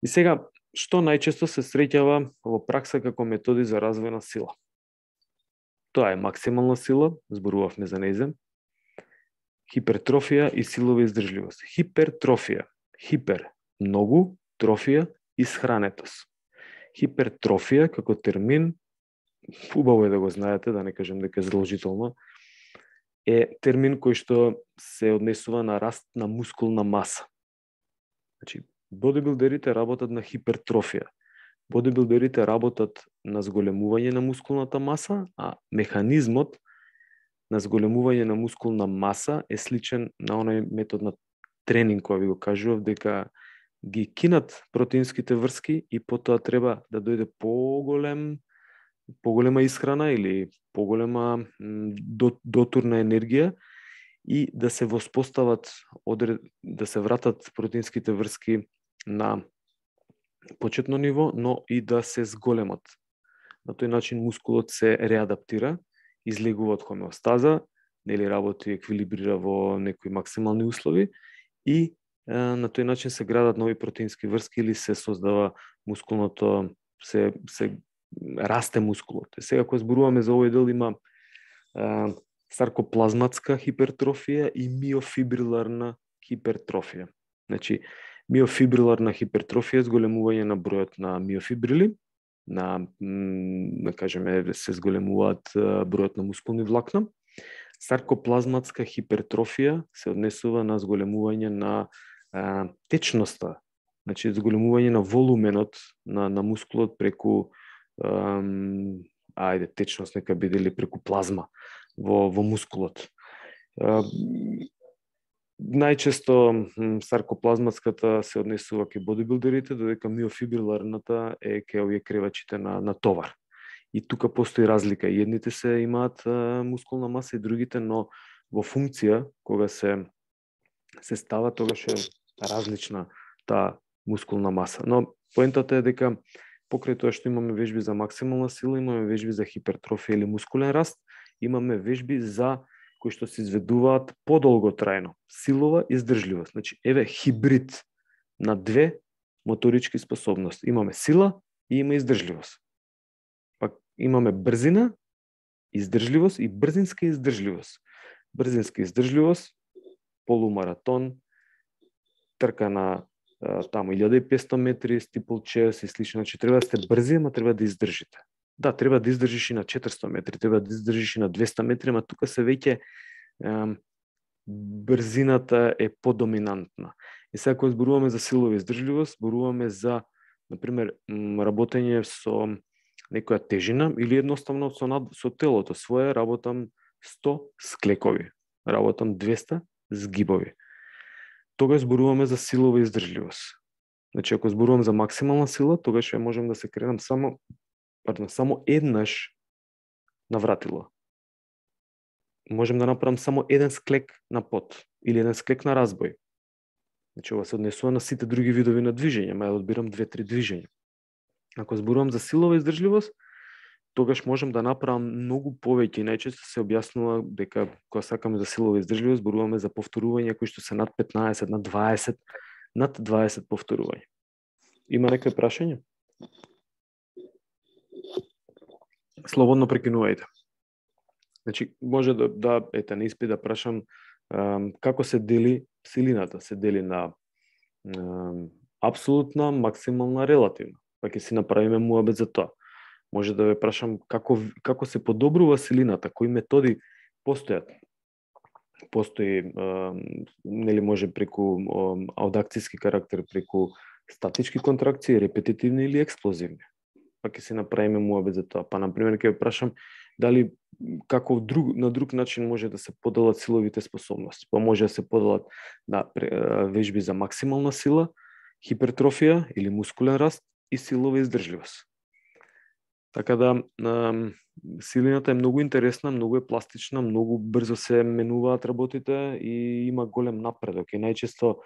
И сега, што најчесто се среќава во пракса како методи за развој на сила? Тоа е максимална сила, зборувавме за нејзе, хипертрофија и силова издржливост. Хипертрофија, многу, трофија, исхранетост. Хипертрофија како термин, убаво е да го знаете, да не кажем дека е задолжително, е термин кој што се однесува на раст на мускулна маса. Значи, бодибилдерите работат на хипертрофија. Бодибилдерите работат на зголемување на мускулната маса, а механизмот на зголемување на мускулна маса е сличен на оној метод на тренинг кој ви го кажував, дека ги кинат протеинските врски и потоа треба да дојде поголема исхрана или поголема дотурна енергија и да се воспостават, да се вратат протеинските врски на почетно ниво, но и да се зголемат. На тој начин мускулот се реадаптира, излегува од хомеостаза, нели работи, еквилибрира во некои максимални услови и на тој начин се градат нови протеински врски или се создава мускулното, се расте мускулот. Сега кога зборуваме за овој дел има саркоплазматска хипертрофија и миофибриларна хипертрофија. Значи, миофибриларна хипертрофија е зголемување на бројот на миофибрили, да кажеме, се зголемуваат бројот на мускулни влакна. Саркоплазматска хипертрофија се однесува на зголемување на течноста, значи зголемување на волуменот на мускулот преку течност нека биде или преку плазма во мускулот. Најчесто саркоплазматската се однесува кај бодибилдерите, додека миофибриларната е кај овие кревачите на товар. И тука постои разлика. Едните се имаат мускулна маса и другите, но во функција, кога се става, тогаш е различна таа мускулна маса. Но поентата е дека покрај тоа што имаме вежби за максимална сила, имаме вежби за хипертрофија или мускулен раст, имаме вежби за кои што се изведуваат подолготрајно, силова издржливост. Значи, еве хибрид на две моторички способности. Имаме сила и има издржливост. Пак имаме брзина, издржливост и брзинска издржливост. Брзинска издржливост, полумаратон, трка на таму 1500 метри, steeplechase и слично, значи треба да сте брзи, ама треба да издржите. Да, треба да издржиш и на 400 метри, треба да издржиш и на 200 метри, ама тука се веќе брзината е подоминантна. И сега кога зборуваме за силова издржливост, зборуваме за, например, работење со некоја тежина или едноставно со телото свое, работам 100 склекови, работам 200 згибови. Тогаш зборуваме за силова издржливост. Значи, ако зборувам за максимална сила, тогаш ја можам да се кренам само еднаш на вратило. Можем да направам само еден склек на пот или еден склек на разбој. Значи, ова се однесува на сите други видови на движење, ма ја одбирам 2-3 движења. Ако зборувам за силова издржливост, тогаш можем да направам многу повеќе. Најчесто се објаснува дека кога сакаме за силова издржливост, зборуваме за повторувања кои што се над 15, над 20 повторувања. Има некои прашања? Слободно прекинувајте. Значи, може да на испит да прашам како се дели силината. Се дели на апсолутна, максимална, релативна. Па ќе си направиме муабет за тоа. Може да ве прашам како се подобрува силината, кои методи постојат. Постои, нели може преку аудакцијски карактер, преку статички контракции, репетитивни или експлозивни. Па ќе си направиме муабет за тоа. Па, например, ќе ве прашам дали како на друг начин може да се поделат силовите способности. Па може да се поделат на вежби за максимална сила, хипертрофија или мускулен раст и силова издржливост. Така да, силината е многу интересна, многу е пластична, многу брзо се менуваат работите и има голем напредок. И најчесто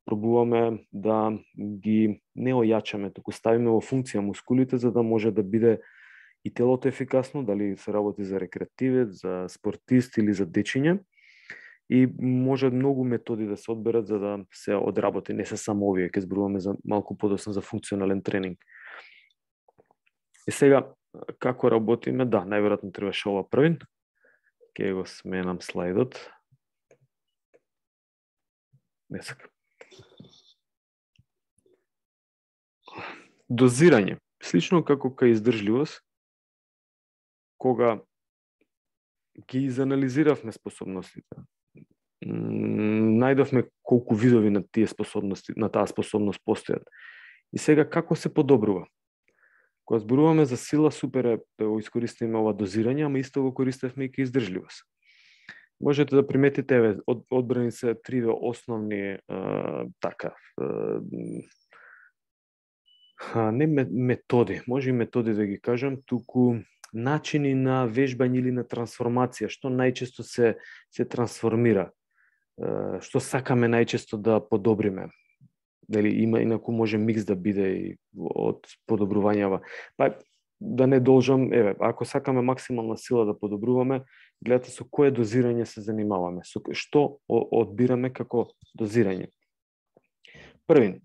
пробуваме да ги не ојачаме, туку ставиме во функција мускулите за да може да биде и телото ефикасно, дали се работи за рекреативец, за спортист или за дечиња. И може многу методи да се одберат за да се одработи, не се само овие, ќе зборуваме за малку подоцна за функционален тренинг. И сега, како работиме? Да, најверојатно требаше ова првин. Ке го сменам слайдот. Не сакам. Дозирање. Слично како кај издржливост, кога ги изанализиравме способностите, најдовме колку видови на тие способности, на таа способност постојат. И сега како се подобрува? Кога зборуваме за сила, супер е да го искористиме ова дозирање, ама исто го користевме и кај издржливост. Можете да приметите, одбрани се триве основни не методи, може и методи да ги кажам, туку начини на вежбање или на трансформација, што најчесто се трансформира, што сакаме најчесто да подобриме. Дали има, инаку може микс да биде и од подобрувањава. Па да не должам, ако сакаме максимална сила да подобруваме, гледате со кое дозирање се занимаваме, со што одбираме како дозирање. Првин,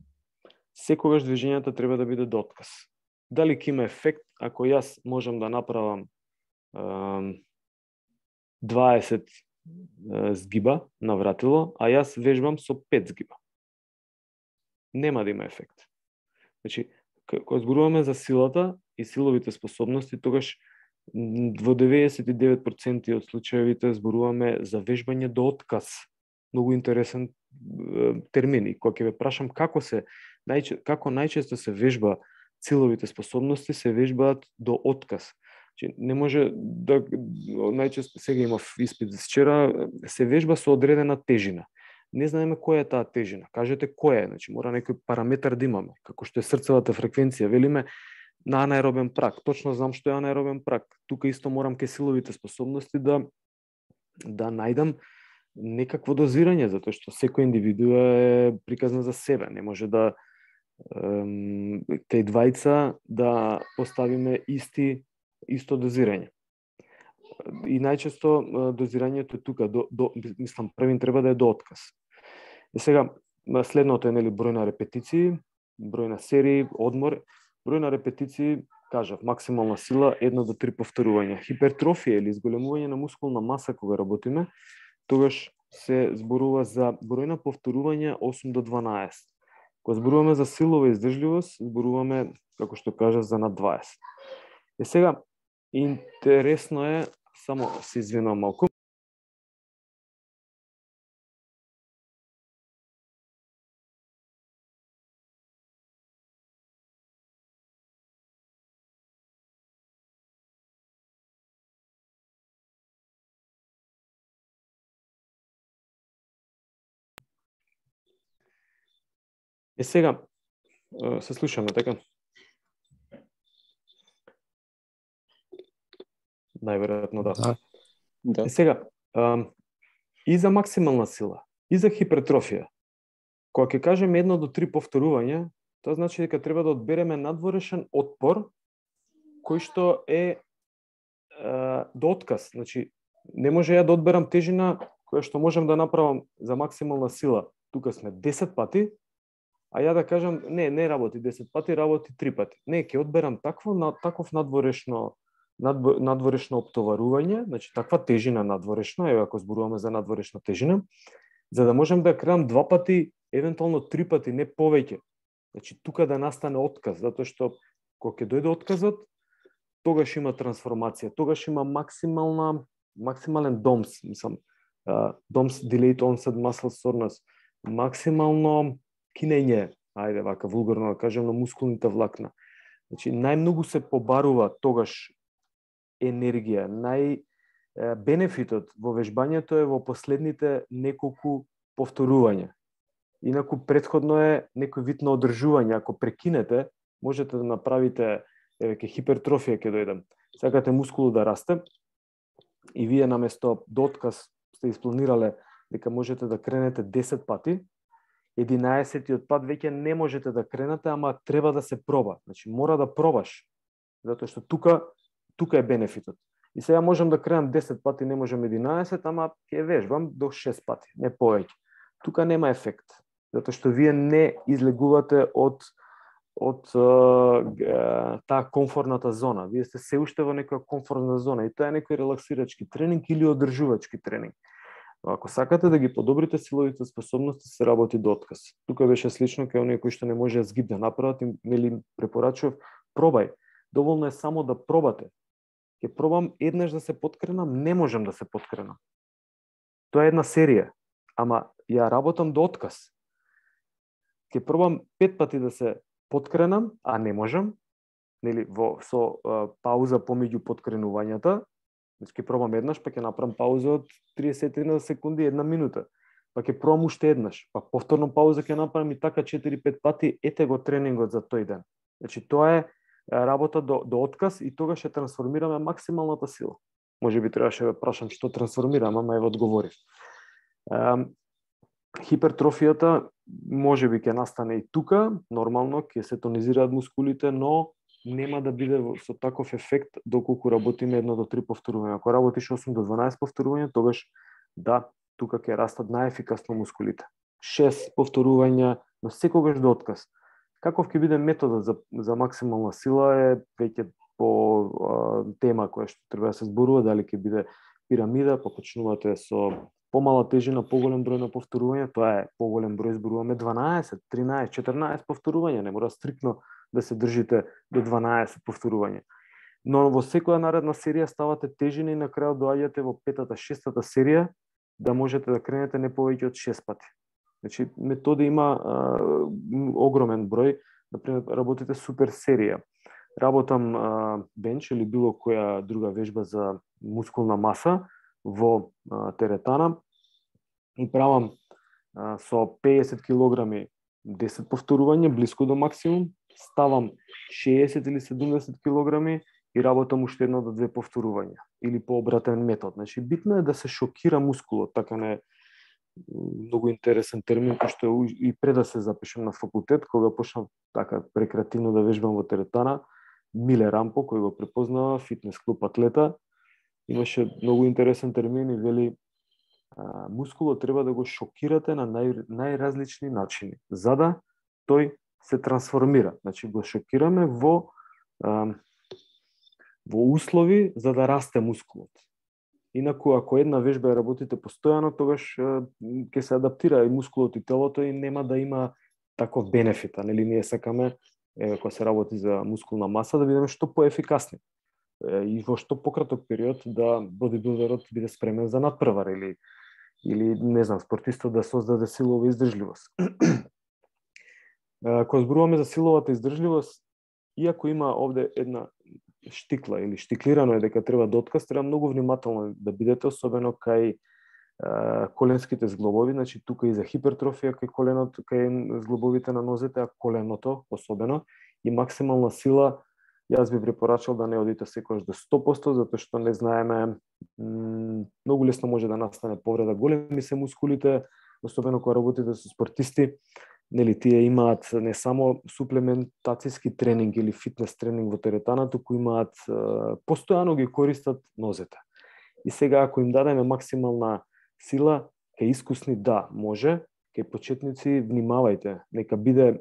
секогаш движењата треба да биде до отказ. Дали ќе има ефект ако јас можам да направам 20 згиба на вратило, а јас вежбам со 5 згиба? Нема да има ефект. Значи, кога зборуваме за силата и силовите способности, тогаш во 99% од случаевите зборуваме за вежбање до отказ. Многу интересен термин. И кога ќе ве прашам како најчесто се вежба силовите способности, се вежбаат до отказ. Значи, не може да најчесто, сега имав испит за вчера, се вежба со одредена тежина. Не знаеме која е таа тежина. Кажете која е, значи мора некој параметар да имаме, како што е срцевата фреквенција, велиме на анаеробен прак. Точно знам што е анаеробен прак. Тука исто морам кај силовите способности да најдам некакво дозирање, затоа што секој индивидуа е приказна за себе. Не може да кај двајца да поставиме исто дозирање. И најчесто дозирањето тука, мислам, првин треба да е до отказ. И сега, следното е број на репетиции, број на серии, одмор. Број на репетиции, кажав, максимална сила, 1 до 3 повторувања. Хипертрофија или изголемување на мускулна маса кога работиме, тогаш се зборува за број на повторувања 8 до 12. Кога зборуваме за силова издржливост, зборуваме, како што кажа, за над 20. Сега, интересно е, само се извинувам малку. Сега, се слушаме, така? Најверојатно да. Да. Сега, и за максимална сила, и за хипертрофија, кога ќе кажеме 1 до 3 повторувања, тоа значи дека треба да одбереме надворешен отпор, кој што е до отказ. Значи, не може ја да одберам тежина која што можам да направам за максимална сила. Тука сме 10 пати, а ја да кажам, не работи 10 пати, работи 3 пати. Не, ќе одберам таков надворешно оптоварување, значи таква тежина надворешна, еве ако зборуваме за надворешна тежина, за да можем да кренам 2 пати, евентуално 3 пати, не повеќе. Значи тука да настане отказ, затоа што кога ќе дојде отказот, тогаш има трансформација, тогаш има максимален DOMS, DOMS delayed onset muscle soreness, максимално кинење, ајде вака вулгарно да кажем, на мускулните влакна. Значи најмногу се побарува тогаш енергија, бенефитот во вежбањето е во последните неколку повторувања. Инаку претходно е некој вид на одржување, ако прекинете, можете да направите ке хипертрофија ќе дојдем. Сакате мускулот да расте и вие наместо до отказ сте испланирале дека можете да кренете 10 пати, 11-тиот пат веќе не можете да кренете, ама треба да се проба. Значи мора да пробаш, затоа што тука е бенефитот. И сега можам да кренам 10 пати, не можам 11, ама ќе вежбам до 6 пати, не повеќе. Тука нема ефект, затоа што вие не излегувате од таа комфортната зона. Вие сте се уште во некоја комфортна зона и тоа е некој релаксирачки тренинг или одржувачки тренинг. Ако сакате да ги подобрите силовите способности, се работи до отказ. Тука беше слично кај оние кои што не може згиб да направат, им препорачував, пробај. Доволно е само да пробате. Ќе пробам еднаш да се поткренам, не можам да се поткренам. Тоа е една серија, ама ја работам до отказ. Ќе пробам 5 пати да се поткренам, а не можам, нели со пауза помеѓу поткренувањата. Значи ќе пробам еднаш, па ќе направам пауза од 30 секунди, 1 минута. Па ќе пробам уште еднаш, па повторно пауза ќе направам и така 4-5 пати, ете го тренингот за тој ден. Значи тоа е работа до отказ и тогаш ќе трансформираме максималната сила. Може би требаше да прашам што трансформирам, ама еве одговорив. Хипертрофијата може би ќе настане и тука, нормално ќе се тонизираат мускулите, но нема да биде со таков ефект доколку работиме 1 до 3 повторувања. Ако работиш 8 до 12 повторувања, тогаш да, тука ќе растат најефикасно мускулите. 6 повторувања, но секогаш до отказ. Каков ќе биде методот за максимална сила е веќе по тема која што треба да се зборува, дали ќе биде пирамида, па почнувате со помала тежина, поголем број на повторувања, тоа е поголем број, зборуваме 12, 13, 14 повторувања, не мора стрикно да се држите до 12 повторувања. Но во секоја наредна серија ставате тежини и на крајот доаѓате во 5-та, 6-та серија да можете да кренете не повеќе од 6 пати. Значи, методи има огромен број, например, работите супер серија. Работам бенч или било која друга вежба за мускулна маса во теретана и правам со 50 килограми 10 повторувања, близко до максимум, ставам 60 или 70 килограми и работам уште 1 до 2 повторувања или по обратен метод. Значи, битно е да се шокира мускулот, така не многу интересен термин, кој што и пред да се запишам на факултет, кога почнав така рекреативно да вежбам во теретана, Миле Рампо, кој го препознава, фитнес клуб атлета, имаше многу интересен термин и вели мускулот треба да го шокирате на најразлични начини, за да тој се трансформира. Значи, го шокираме во услови за да расте мускулот. Инаку, ако една вежба ја работите постојано, тогаш ќе се адаптира и мускулот и телото и нема да има таков бенефит. Нели ние сакаме, кога се работи за мускулна маса, да бидеме што поефикасни. И во што пократок период да бодибилдерот биде спремен за надпревар или не знам, спортистот да создаде силова издржливост. Кога зборуваме за силовата издржливост, иако има овде една штикла или штиклирано е дека треба да отказ, треба многу внимателно да бидете, особено кај коленските зглобови, значи тука и за хипертрофија кај коленот, кај зглобовите на нозете, а коленото особено, и максимална сила, јас би препорачал да не одите секогаш до 100%, затоа што не знаеме, многу лесно може да настане повреда. Големи се мускулите, особено кога работите со спортисти, нели тие имаат не само суплементацијски тренинг или фитнес тренинг во теретана, туку имаат постојано ги користат нозете. И сега ако им дадеме максимална сила, кај искусни да, може, кај почетници внимавајте, нека биде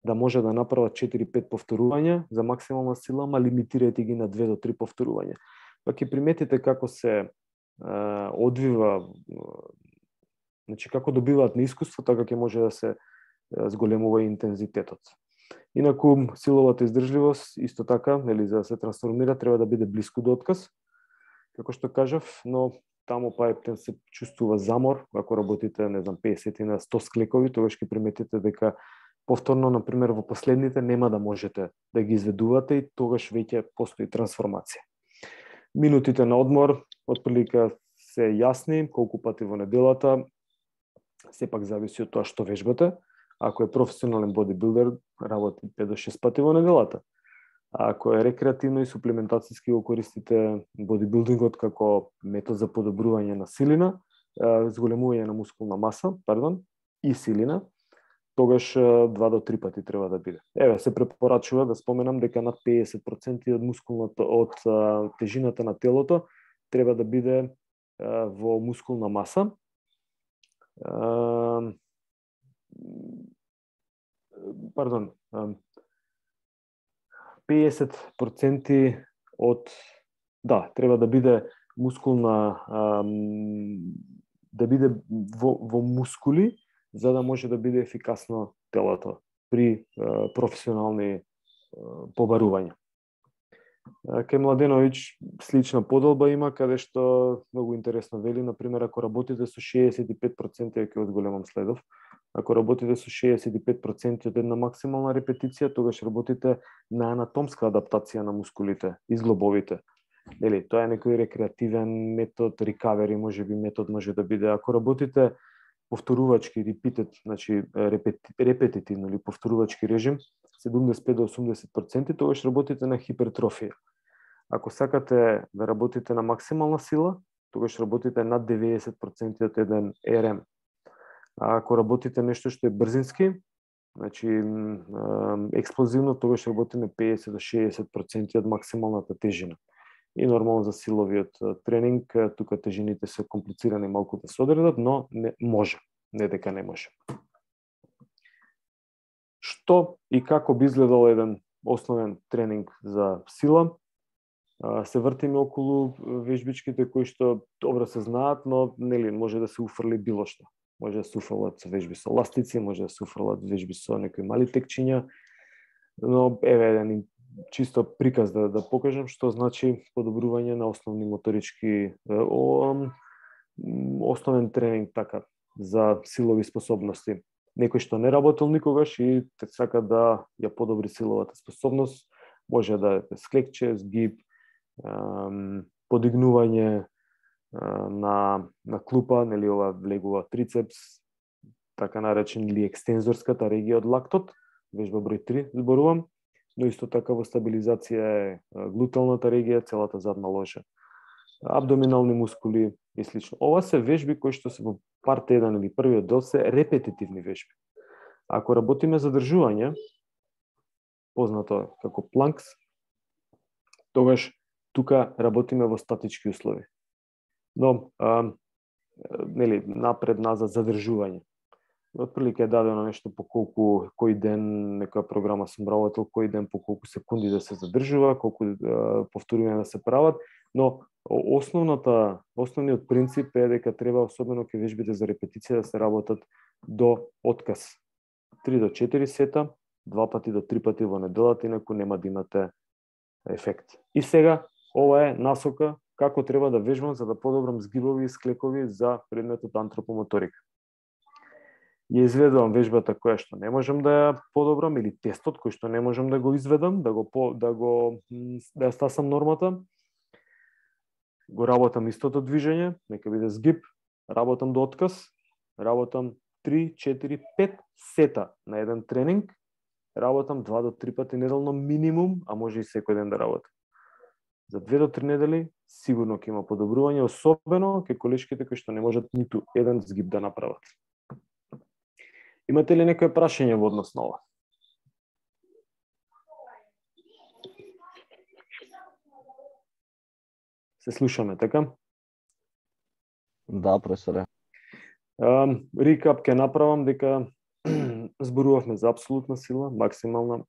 да може да направат 4-5 повторувања за максимална сила, ама лимитирајте ги на 2 до 3 повторувања. Па ќе приметите како се одвива, значи како добиваат на искуство, така ќе може да се зголемува интензитетот. Инаку силовата издржливост исто така, нели за да се трансформира треба да биде блиску до отказ. Како што кажав, но таму па се чувствува замор, ако работите, не знам, 50 на 100 склекови, тогаш ќе приметите дека повторно, например, во последните нема да можете да ги изведувате и тогаш веќе постои трансформација. Минутите на одмор, отприлика се јасни, колку пати во неделата, сепак зависи од тоа што вежбате. Ако е професионален бодибилдер, работи 5 до 6 пати во неделата. А ако е рекреативно и суплементацијски го користите бодибилдингот како метод за подобрување на силина, зголемување на мускулна маса, и силина, тогаш 2 до 3 пати треба да биде. Еве, се препорачува да споменам дека над 50% од мускулната од тежината на телото треба да биде во мускулна маса. 50% од треба да биде мускулна да биде во мускули, за да може да биде ефикасно телото при професионални побарувања. Кај Младеновиќ слична поделба има, каде што многу интересно вели, например, ако работите со 65%, ќе од големам следов, ако работите со 65% од една максимална репетиција, тогаш работите на анатомска адаптација на мускулите и зглобовите. Нели, тоа е некој рекреативен метод, рекавери, можеби метод може да биде. Ако работите повторувачки репетит, значи репетитивно или повторувачки режим, 75 до 80%, тогаш работите на хипертрофија. Ако сакате да работите на максимална сила, тогаш работите над 90% од еден РМ. А ако работите нешто што е брзински, значи експлозивно, тогаш работиме 50 до 60% од максималната тежина. И нормално за силовиот тренинг, тука тежините се комплицирани малку да се одредат, но не може, не дека не може. Што и како би изгледал еден основен тренинг за сила? Се вртиме околу вежбичките кои што добро се знаат, но нели може да се уфрли било што. Може да се уфрлат вежби со ластици, може да се уфрлат вежби со некои мали текчиња, но еве еден чисто приказ да покажам што значи подобрување на основни моторички, основен тренинг така за силови способности. Некој што не работел никогаш и сака да ја подобри силовата способност, може да е склекче, згиб, подигнување на клупа, нели ова влегува трицепс, така наречен или екстензорската регија од лактот, вежба број 3 зборувам, но исто така во стабилизација е глуталната регија, целата задна ложа, абдоминални мускули и слично. Ова се вежби кои што се во парт 1 или првиот дел се репетитивни вежби. Ако работиме задржување, познато како планкс, тогаш тука работиме во статички услови. Но, нели, напред-назад задржување. Отприлика е дадено нешто по колку, кој ден некоја програма сум работел, кој ден по колку секунди да се задржува, колку повторувања да се прават, Но основниот принцип е дека треба, особено кај вежбите за репетиција, да се работат до отказ. 3 до 4 сета, 2 пати до 3 пати во неделата, инаку нема да имате ефект. И сега, ова е насока како треба да вежбам за да подобрам згибови и склекови за предметот антропомоторика. Ја изведувам вежбата која што не можам да ја подобрам или тестот кој што не можам да го изведам, да ја стасам нормата. Го работам истото движење, нека биде згиб, работам до отказ, работам 3, 4, 5 сета на еден тренинг, работам 2 до 3 пати неделно минимум, а може и секој ден да работам. За 2 до 3 недели сигурно ќе има подобрување, особено кај колешките кои што не можат ниту еден згиб да направат. Имате ли некој прашање во однос на ова? Се слушаме, така? Да, професоре. Рекап ќе направам дека зборувавме за апсолутна сила, максимална,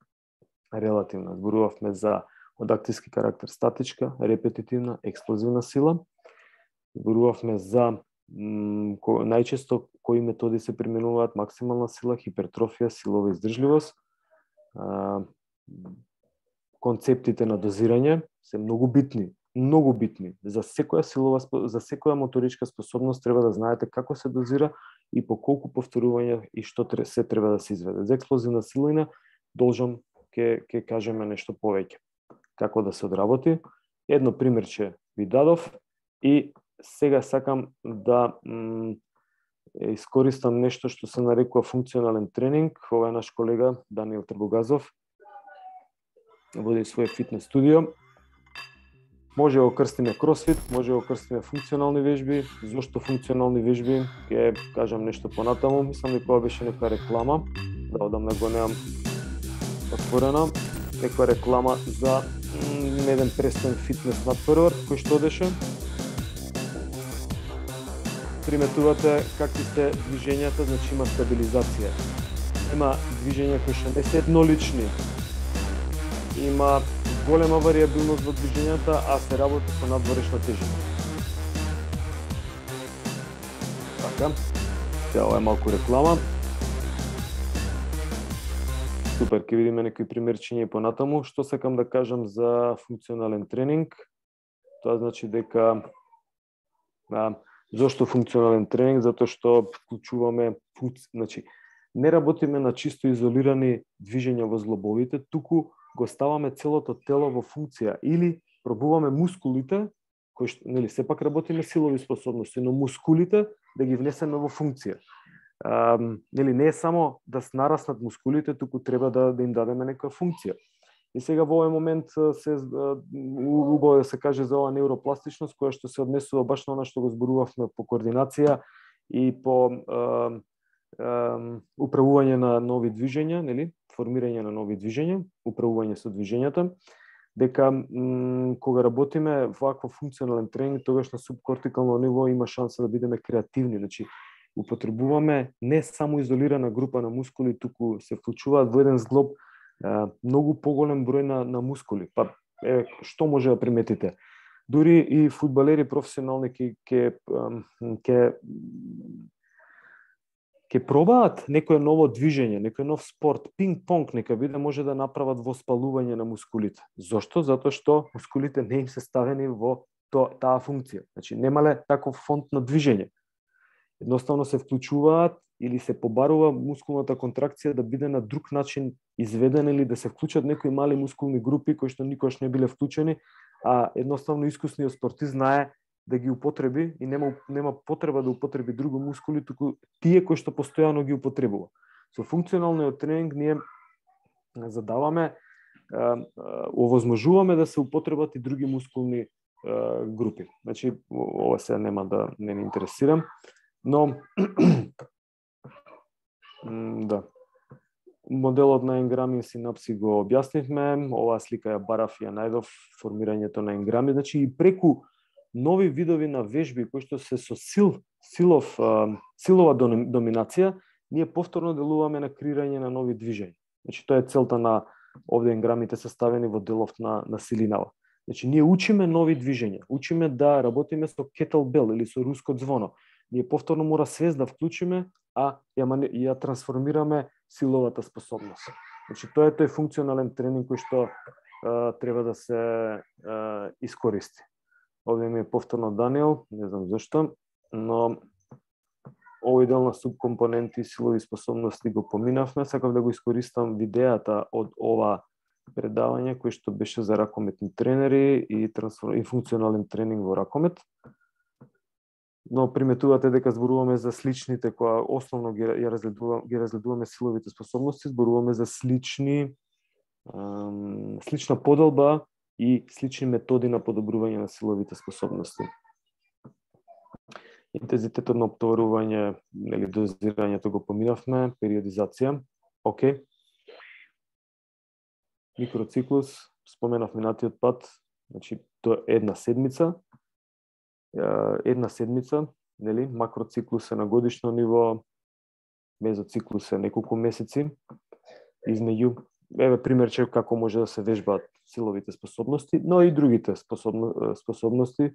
релативна. Зборувавме за од активски карактер статичка, репетитивна, експлозивна сила. Зборувавме за најчесто кои методи се применуваат: максимална сила, хипертрофија, силова издржливост. Концептите на дозирање се многу битни. За секоја моторичка способност треба да знаете како се дозира и по колку повторување и што се треба да се изведе. За експлозивна силина должам ќе кажеме нешто повеќе. Како да се одработи. Едно примерче ви дадов и сега сакам да искористам нешто што се нарекува функционален тренинг. Ова е наш колега Даниел Трбогазов. Води свој фитнес студио. Може го крстиме кросфит, може го крстиме функционални вежби. Зошто функционални вежби? Ќе кажам нешто понатаму. Мислам дека ова беше нека реклама. Да одамна го немам отворена. Нека реклама за еден престоен фитнес надпревар кој што одеше. Приметувате какви се движењата, значи има стабилизација. Има движења кои што не се еднолични. Има голема варијабилност во движењата, а се работи со надворешна тежина. Така, ова е малку реклама. Супер, ќе видиме некои примерчиња и понатаму. Што сакам да кажам за функционален тренинг? Тоа значи дека зошто функционален тренинг? Затоа што вклучуваме, значи не работиме на чисто изолирани движења во зглобовите, туку го ставаме целото тело во функција или пробуваме мускулите, кои што, нели, сепак работиме силови способности, но мускулите да ги внесеме во функција. Нели, не е само да нараснат мускулите, туку треба да им дадеме некоја функција. И сега во овој момент се убаво да се каже за оваа невропластичност, која што се однесува баш на она што го зборувавме по координација и по управување на нови движења, нели? Формирање на нови движења, управување со движењата, дека кога работиме вакво функционален тренинг, тогаш на субкортикално ниво има шанса да бидеме креативни, значи употребуваме не само изолирана група на мускули, туку се вклучуваат во еден зглоб многу поголем број на мускули. Па што може да приметите? Дури и фудбалери професионални ќе пробаат некое ново движење, некој нов спорт, пинг-понг, нека биде, може да направат воспалување на мускулите. Зошто? Затоа што мускулите не им се ставени во таа функција. Значи немале таков фонд на движење. Едноставно се вклучуваат или се побарува мускулната контракција да биде на друг начин изведена или да се вклучат некои мали мускулни групи кои што никош не биле вклучени, а едноставно искусниот спортист знае да ги употреби и нема потреба да употреби други мускули, туку тие кои што постојано ги употребува. Со функционалниот тренинг ние задаваме, овозможуваме да се употребат и други мускулни групи. Значи, ова се нема да не ме интересирам, но да. Моделот на енграми и синапси го објаснивме, оваа слика ја барав и ја најдов, формирањето на енграми, значи и преку нови видови на вежби кои што се со силова доминација, ние повторно делуваме на креирање на нови движења. Значи тоа е целта на овде енграмите составени во делов на силинава. Значи, ние учиме нови движења, учиме да работиме со кеттлбел или со руско звоно. Ние повторно мора свест да вклучиме, а ја трансформираме силовата способност. Значи, тоа е тој функционален тренинг кој што треба да се искористи. Овде ми е повторно Даниел, не знам зашто, но овој дел на субкомпоненти силови способности го поминавме. Сакав да го искористам видеата од ова предавање кој што беше за ракометни тренери и функционален тренинг во ракомет. Но приметувате дека зборуваме за сличните кои основно ги разгледуваме силовите способности, зборуваме за слична поделба и слични методи на подобрување на силовите способности. Интензитетот на оптоварување, нели дозирањето го поминавме, периодизација, окей. Микроциклус, споменав минатиот пат, значи тоа е една седмица, нели, макроциклус е на годишно ниво, мезоциклус е неколку месеци, измеѓу, еве примерче како може да се вежбаат силовите способности, но и другите способности,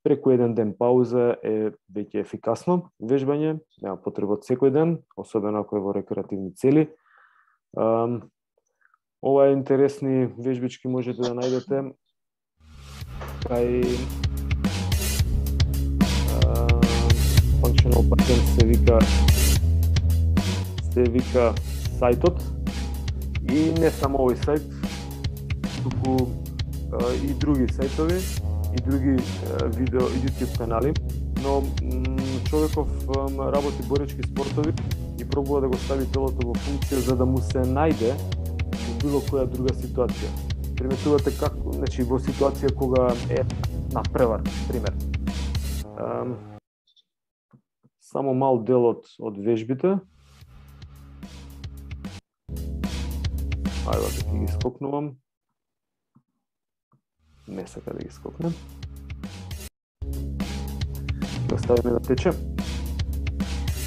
преку еден ден пауза е веќе ефикасно вежбање, нема потреба од секој ден, особено ако е во рекреативни цели. Ова е интересни вежбички можете да најдете кај Functional Pattern се вика сајтот и не само овој сајт, туку и други сајтови и други видео и YouTube канали, но човеков работи боречки спортови и пробува да го стави телото во функција за да му се најде во било која друга ситуација. Приметувате како, значи во ситуација кога е на превар, пример. Само мал дел од вежбите. Ајде да ги скокнувам. Не сака да ги скокнем. Да ставиме да тече.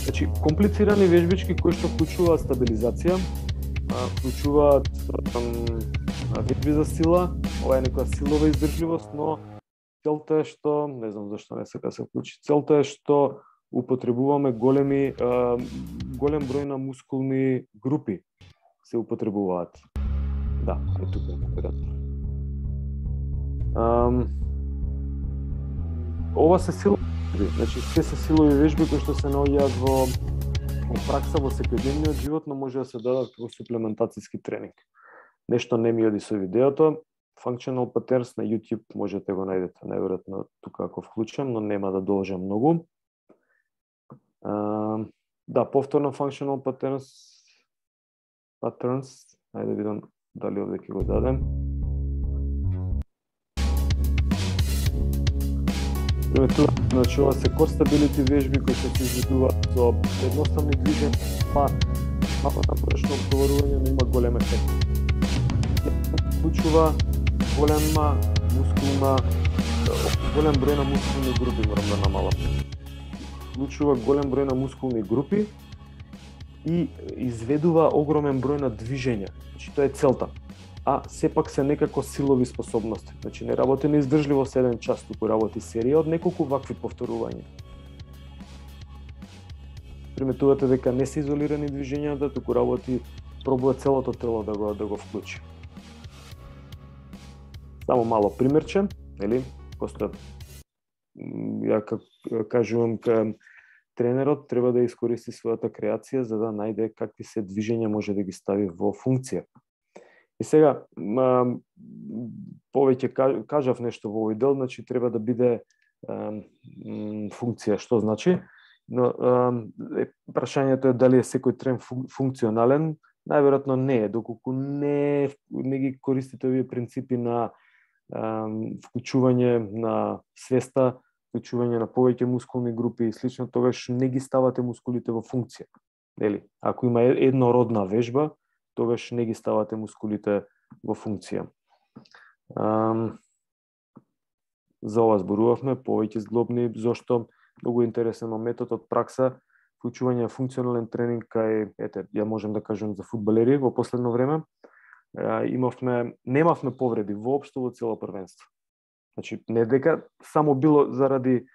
Значи, комплицирани вежбички кои што вклучуваат стабилизација, вклучуваат вежби за сила, ова е некоја силова издржливост, но целта е што, не знам зашто не сака се вклучи, целта е што употребуваме голем број на мускулни групи се употребуваат. Да, е тука веројатно. Ова се силови, значи се силови вежби кои што се наоѓаат во пракса во секојдневниот живот, но може да се дадат како суплементацијски тренинг. Нешто не ми оди со видеото, Functional Patterns на YouTube можете го најдете, најверојатно тука ако вклучам, но нема да должам многу. Да, повторно Functional Patterns, ајде да видам дали овде ќе го дадем. Значи, ова се core stability вежби кои се изведуваат со едноставни движења, малку напорешно оптоварување, но има голем ефект. Вклучува голем број на мускулни групи, морам да намалам. Вклучува голем број на мускулни групи и изведува огромен број на движења. Значи, тоа е целта. А сепак се некако силови способности. Значи, не работи на издржливост еден час, туку работи серија од неколку вакви повторувања. Приметувате дека не се изолирани движењата, туку работи, пробува целото тело да го вклучи. Само мало примерче, нели? Просто ја кажувам ка тренерот треба да искористи својата креација за да најде какви се движења може да ги стави во функција. И сега, повеќе кажав нешто во овој дел, значи треба да биде функција, што значи, но прашањето е дали е секој трен функционален, најверојатно не е, доколку не ги користите овие принципи на вклучување на свеста, вклучување на повеќе мускулни групи и слично, тогаш не ги ставате мускулите во функција. Нели? Ако има еднородна вежба, тогаш не ги ставате мускулите во функција. За ова зборувавме, повеќе зглобни, зошто многу интересен метод од пракса, вклучување на функционален тренинг кај, ја можам да кажам за фудбалери во последно време. Немавме повреди воопшто во цело првенство. Значи, не дека само било заради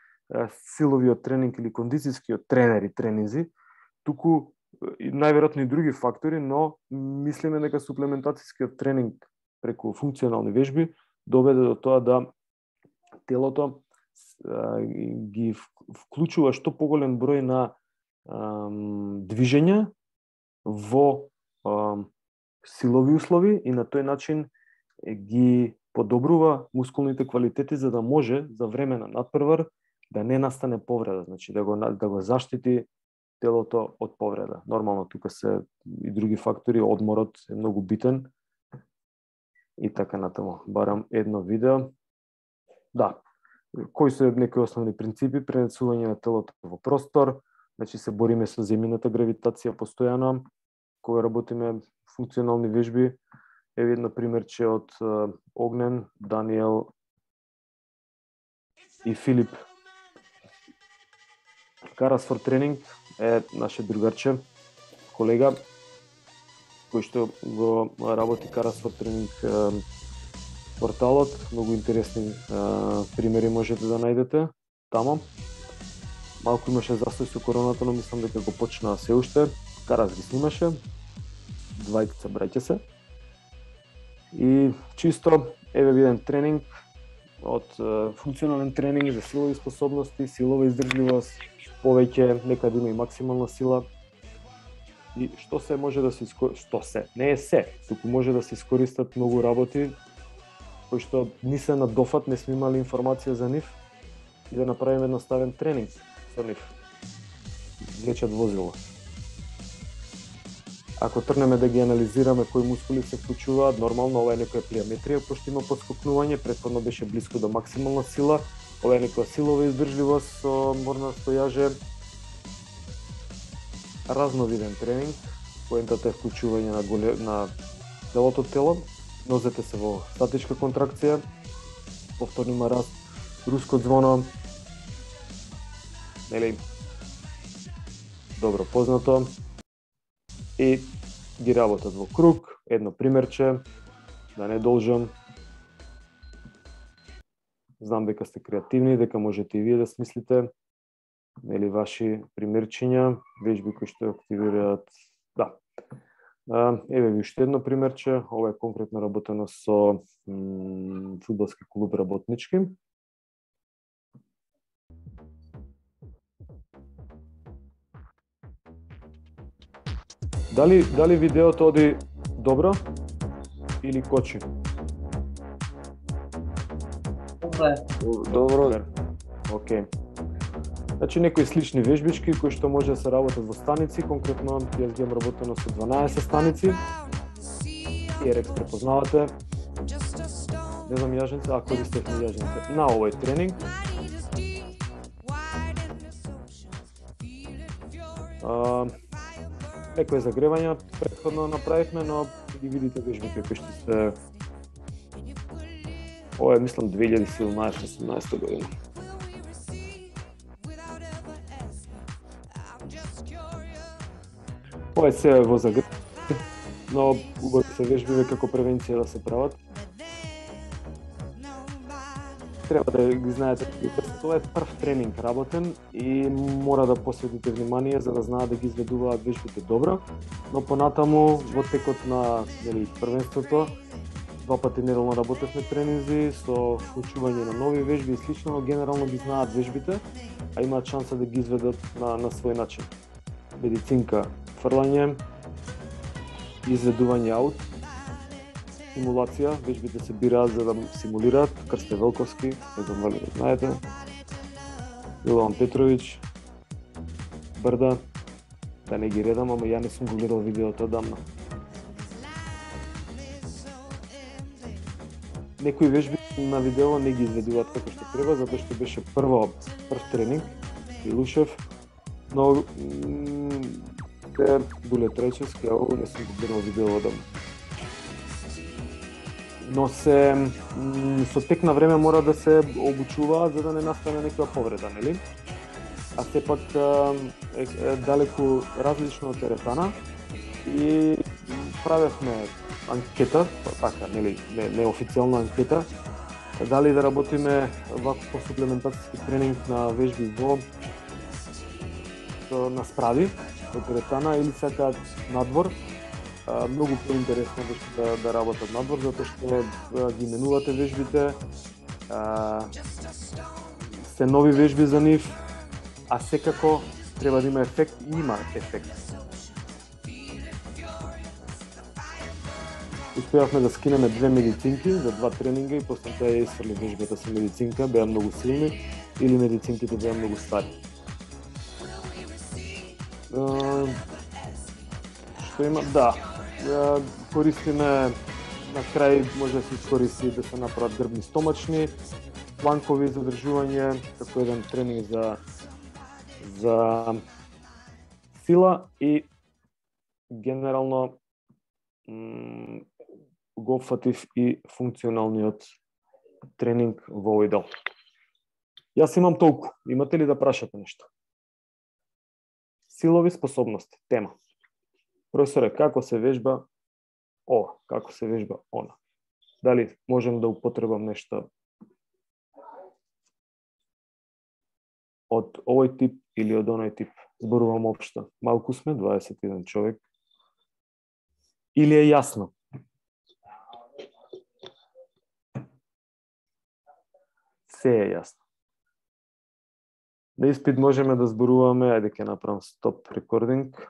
силовиот тренинг или кондицијскиот тренер и тренинзи, туку најверојатно и други фактори, но мислиме дека суплементацијскиот тренинг преку функционални вежби доведе до тоа да телото ги вклучува што поголем број на движења во силови услови и на тој начин ги подобрува мускулните квалитети за да може за време на надпревар да не настане повреда, значи да го заштити телото од повреда. Нормално тука се и други фактори, одморот е многу битен и така натаму. Барам едно видео. Да, кои се некои основни принципи? Пренесување на телото во простор, значи се бориме со земјината гравитација постојано, кога работиме функционални вежби. Еве едно примерче од Огнен, Даниел и Филип. Карасфорд тренинг е наше другарче, колега, кој што го работи Карасфорд тренинг порталот. Многу интересни примери можете да најдете тамо. Малку имаше застој со короната, но мислам дека го почнаа се уште. Карас ги снимаше, двајца браќа се. И чисто, еве виден тренинг од функционален тренинг за силови способности, силова издржливост, повеќе, некаде има и максимална сила. И што се може да се што се, не е се, туку може да се искористат многу работи кои што ни се на дофат, не сме имали информација за нив и да направиме едноставен тренинг со нив. Влечат возило. Ако тргнеме да ги анализираме кои мускули се вклучуваат, нормално ова е некоја плиометрија, пошто има поскокнување, претходно беше блиско до максимална сила, ова е некоја силова издржливост со морна стојаже. Разновиден тренинг, поентата е вклучување на целото тело, нозете се во статичка контракција, повторно има раст, руско звоно, нели, добро познато, и ги работат во круг. Едно примерче, да не должам. Знам дека сте креативни, дека можете и вие да смислите, нели, ваши примерчиња, вежби кои што активираат. Да. Еве ви уште едно примерче, ова е конкретно работено со фудбалски клуб Работнички. Дали видеото оди добро или кочи? Добро. Океј. Значи некои слични вежбички кои што може да се работат во станици, конкретно јас ги имам работено со 12 станици. TRX препознавате. Не знам јаженце, а користевме јаженце на овој тренинг. Некои загревања претходно направивме, но ги видите вежбите кои што се... Ова е, мислам, 2017-18 година. Ова е се во загрев, но убави се вежбиве како превенција да се прават. Треба да ги знаете, тоа е прв тренинг работен и мора да посветите внимание за да знаат да ги изведуваат вежбите добро, но понатаму во текот на првенството два пати неделно работевме тренинзи со вклучување на нови вежби и слично, но генерално ги знаат вежбите, а имаат шанса да ги изведат на свој начин. Медицинка, фрлање, изведување аут, симулација, вежбите се бираат за да симулираат. Крсте Велковски, не знам дали го знаете, Јован Петрович, Брда, да не ги редам, ама ја не сум го гледал видеото одамна. Некои вежби на видео не ги изведуваат како што треба, затоа што беше прв тренинг, Илушев, но Дуле Тречевски, а ово не сум го гледал видео одамна. Но со тек на време мора да се обучуваат за да не настане некоја повреда, нели? А сепак е далеку различно од теретана и правевме анкета, така, нели, неофицијална анкета, Дали да работиме вако по суплементацијски тренинг на вежби на справи, во теретана или сакаат надвор. Многу поинтересно да работат надвор, затоа што ги менувате вежбите, се нови вежби за нив, а секако треба да има ефект и има ефект. Успеавме да скинеме 2 медицинки за 2 тренинга и после тоа ја исфрли вежбата со медицинка, беа многу силни или медицинките беа многу стари. Што има? Да, користиме на крај може да се искористи да се направат грбни стомачни, планкови задржување, како еден тренинг за сила и генерално го фатив и функционалниот тренинг во овој дел. Јас имам толку. Имате ли да прашате нешто? Силови способности, тема. Професоре, како се вежба ова, како се вежба она? Дали можем да употребам нешто од овој тип или од оној тип? Зборувам општо. Малку сме, 21 човек. Или е јасно? Се е јасно. На испит можеме да зборуваме, ајде ќе направам стоп рекординг.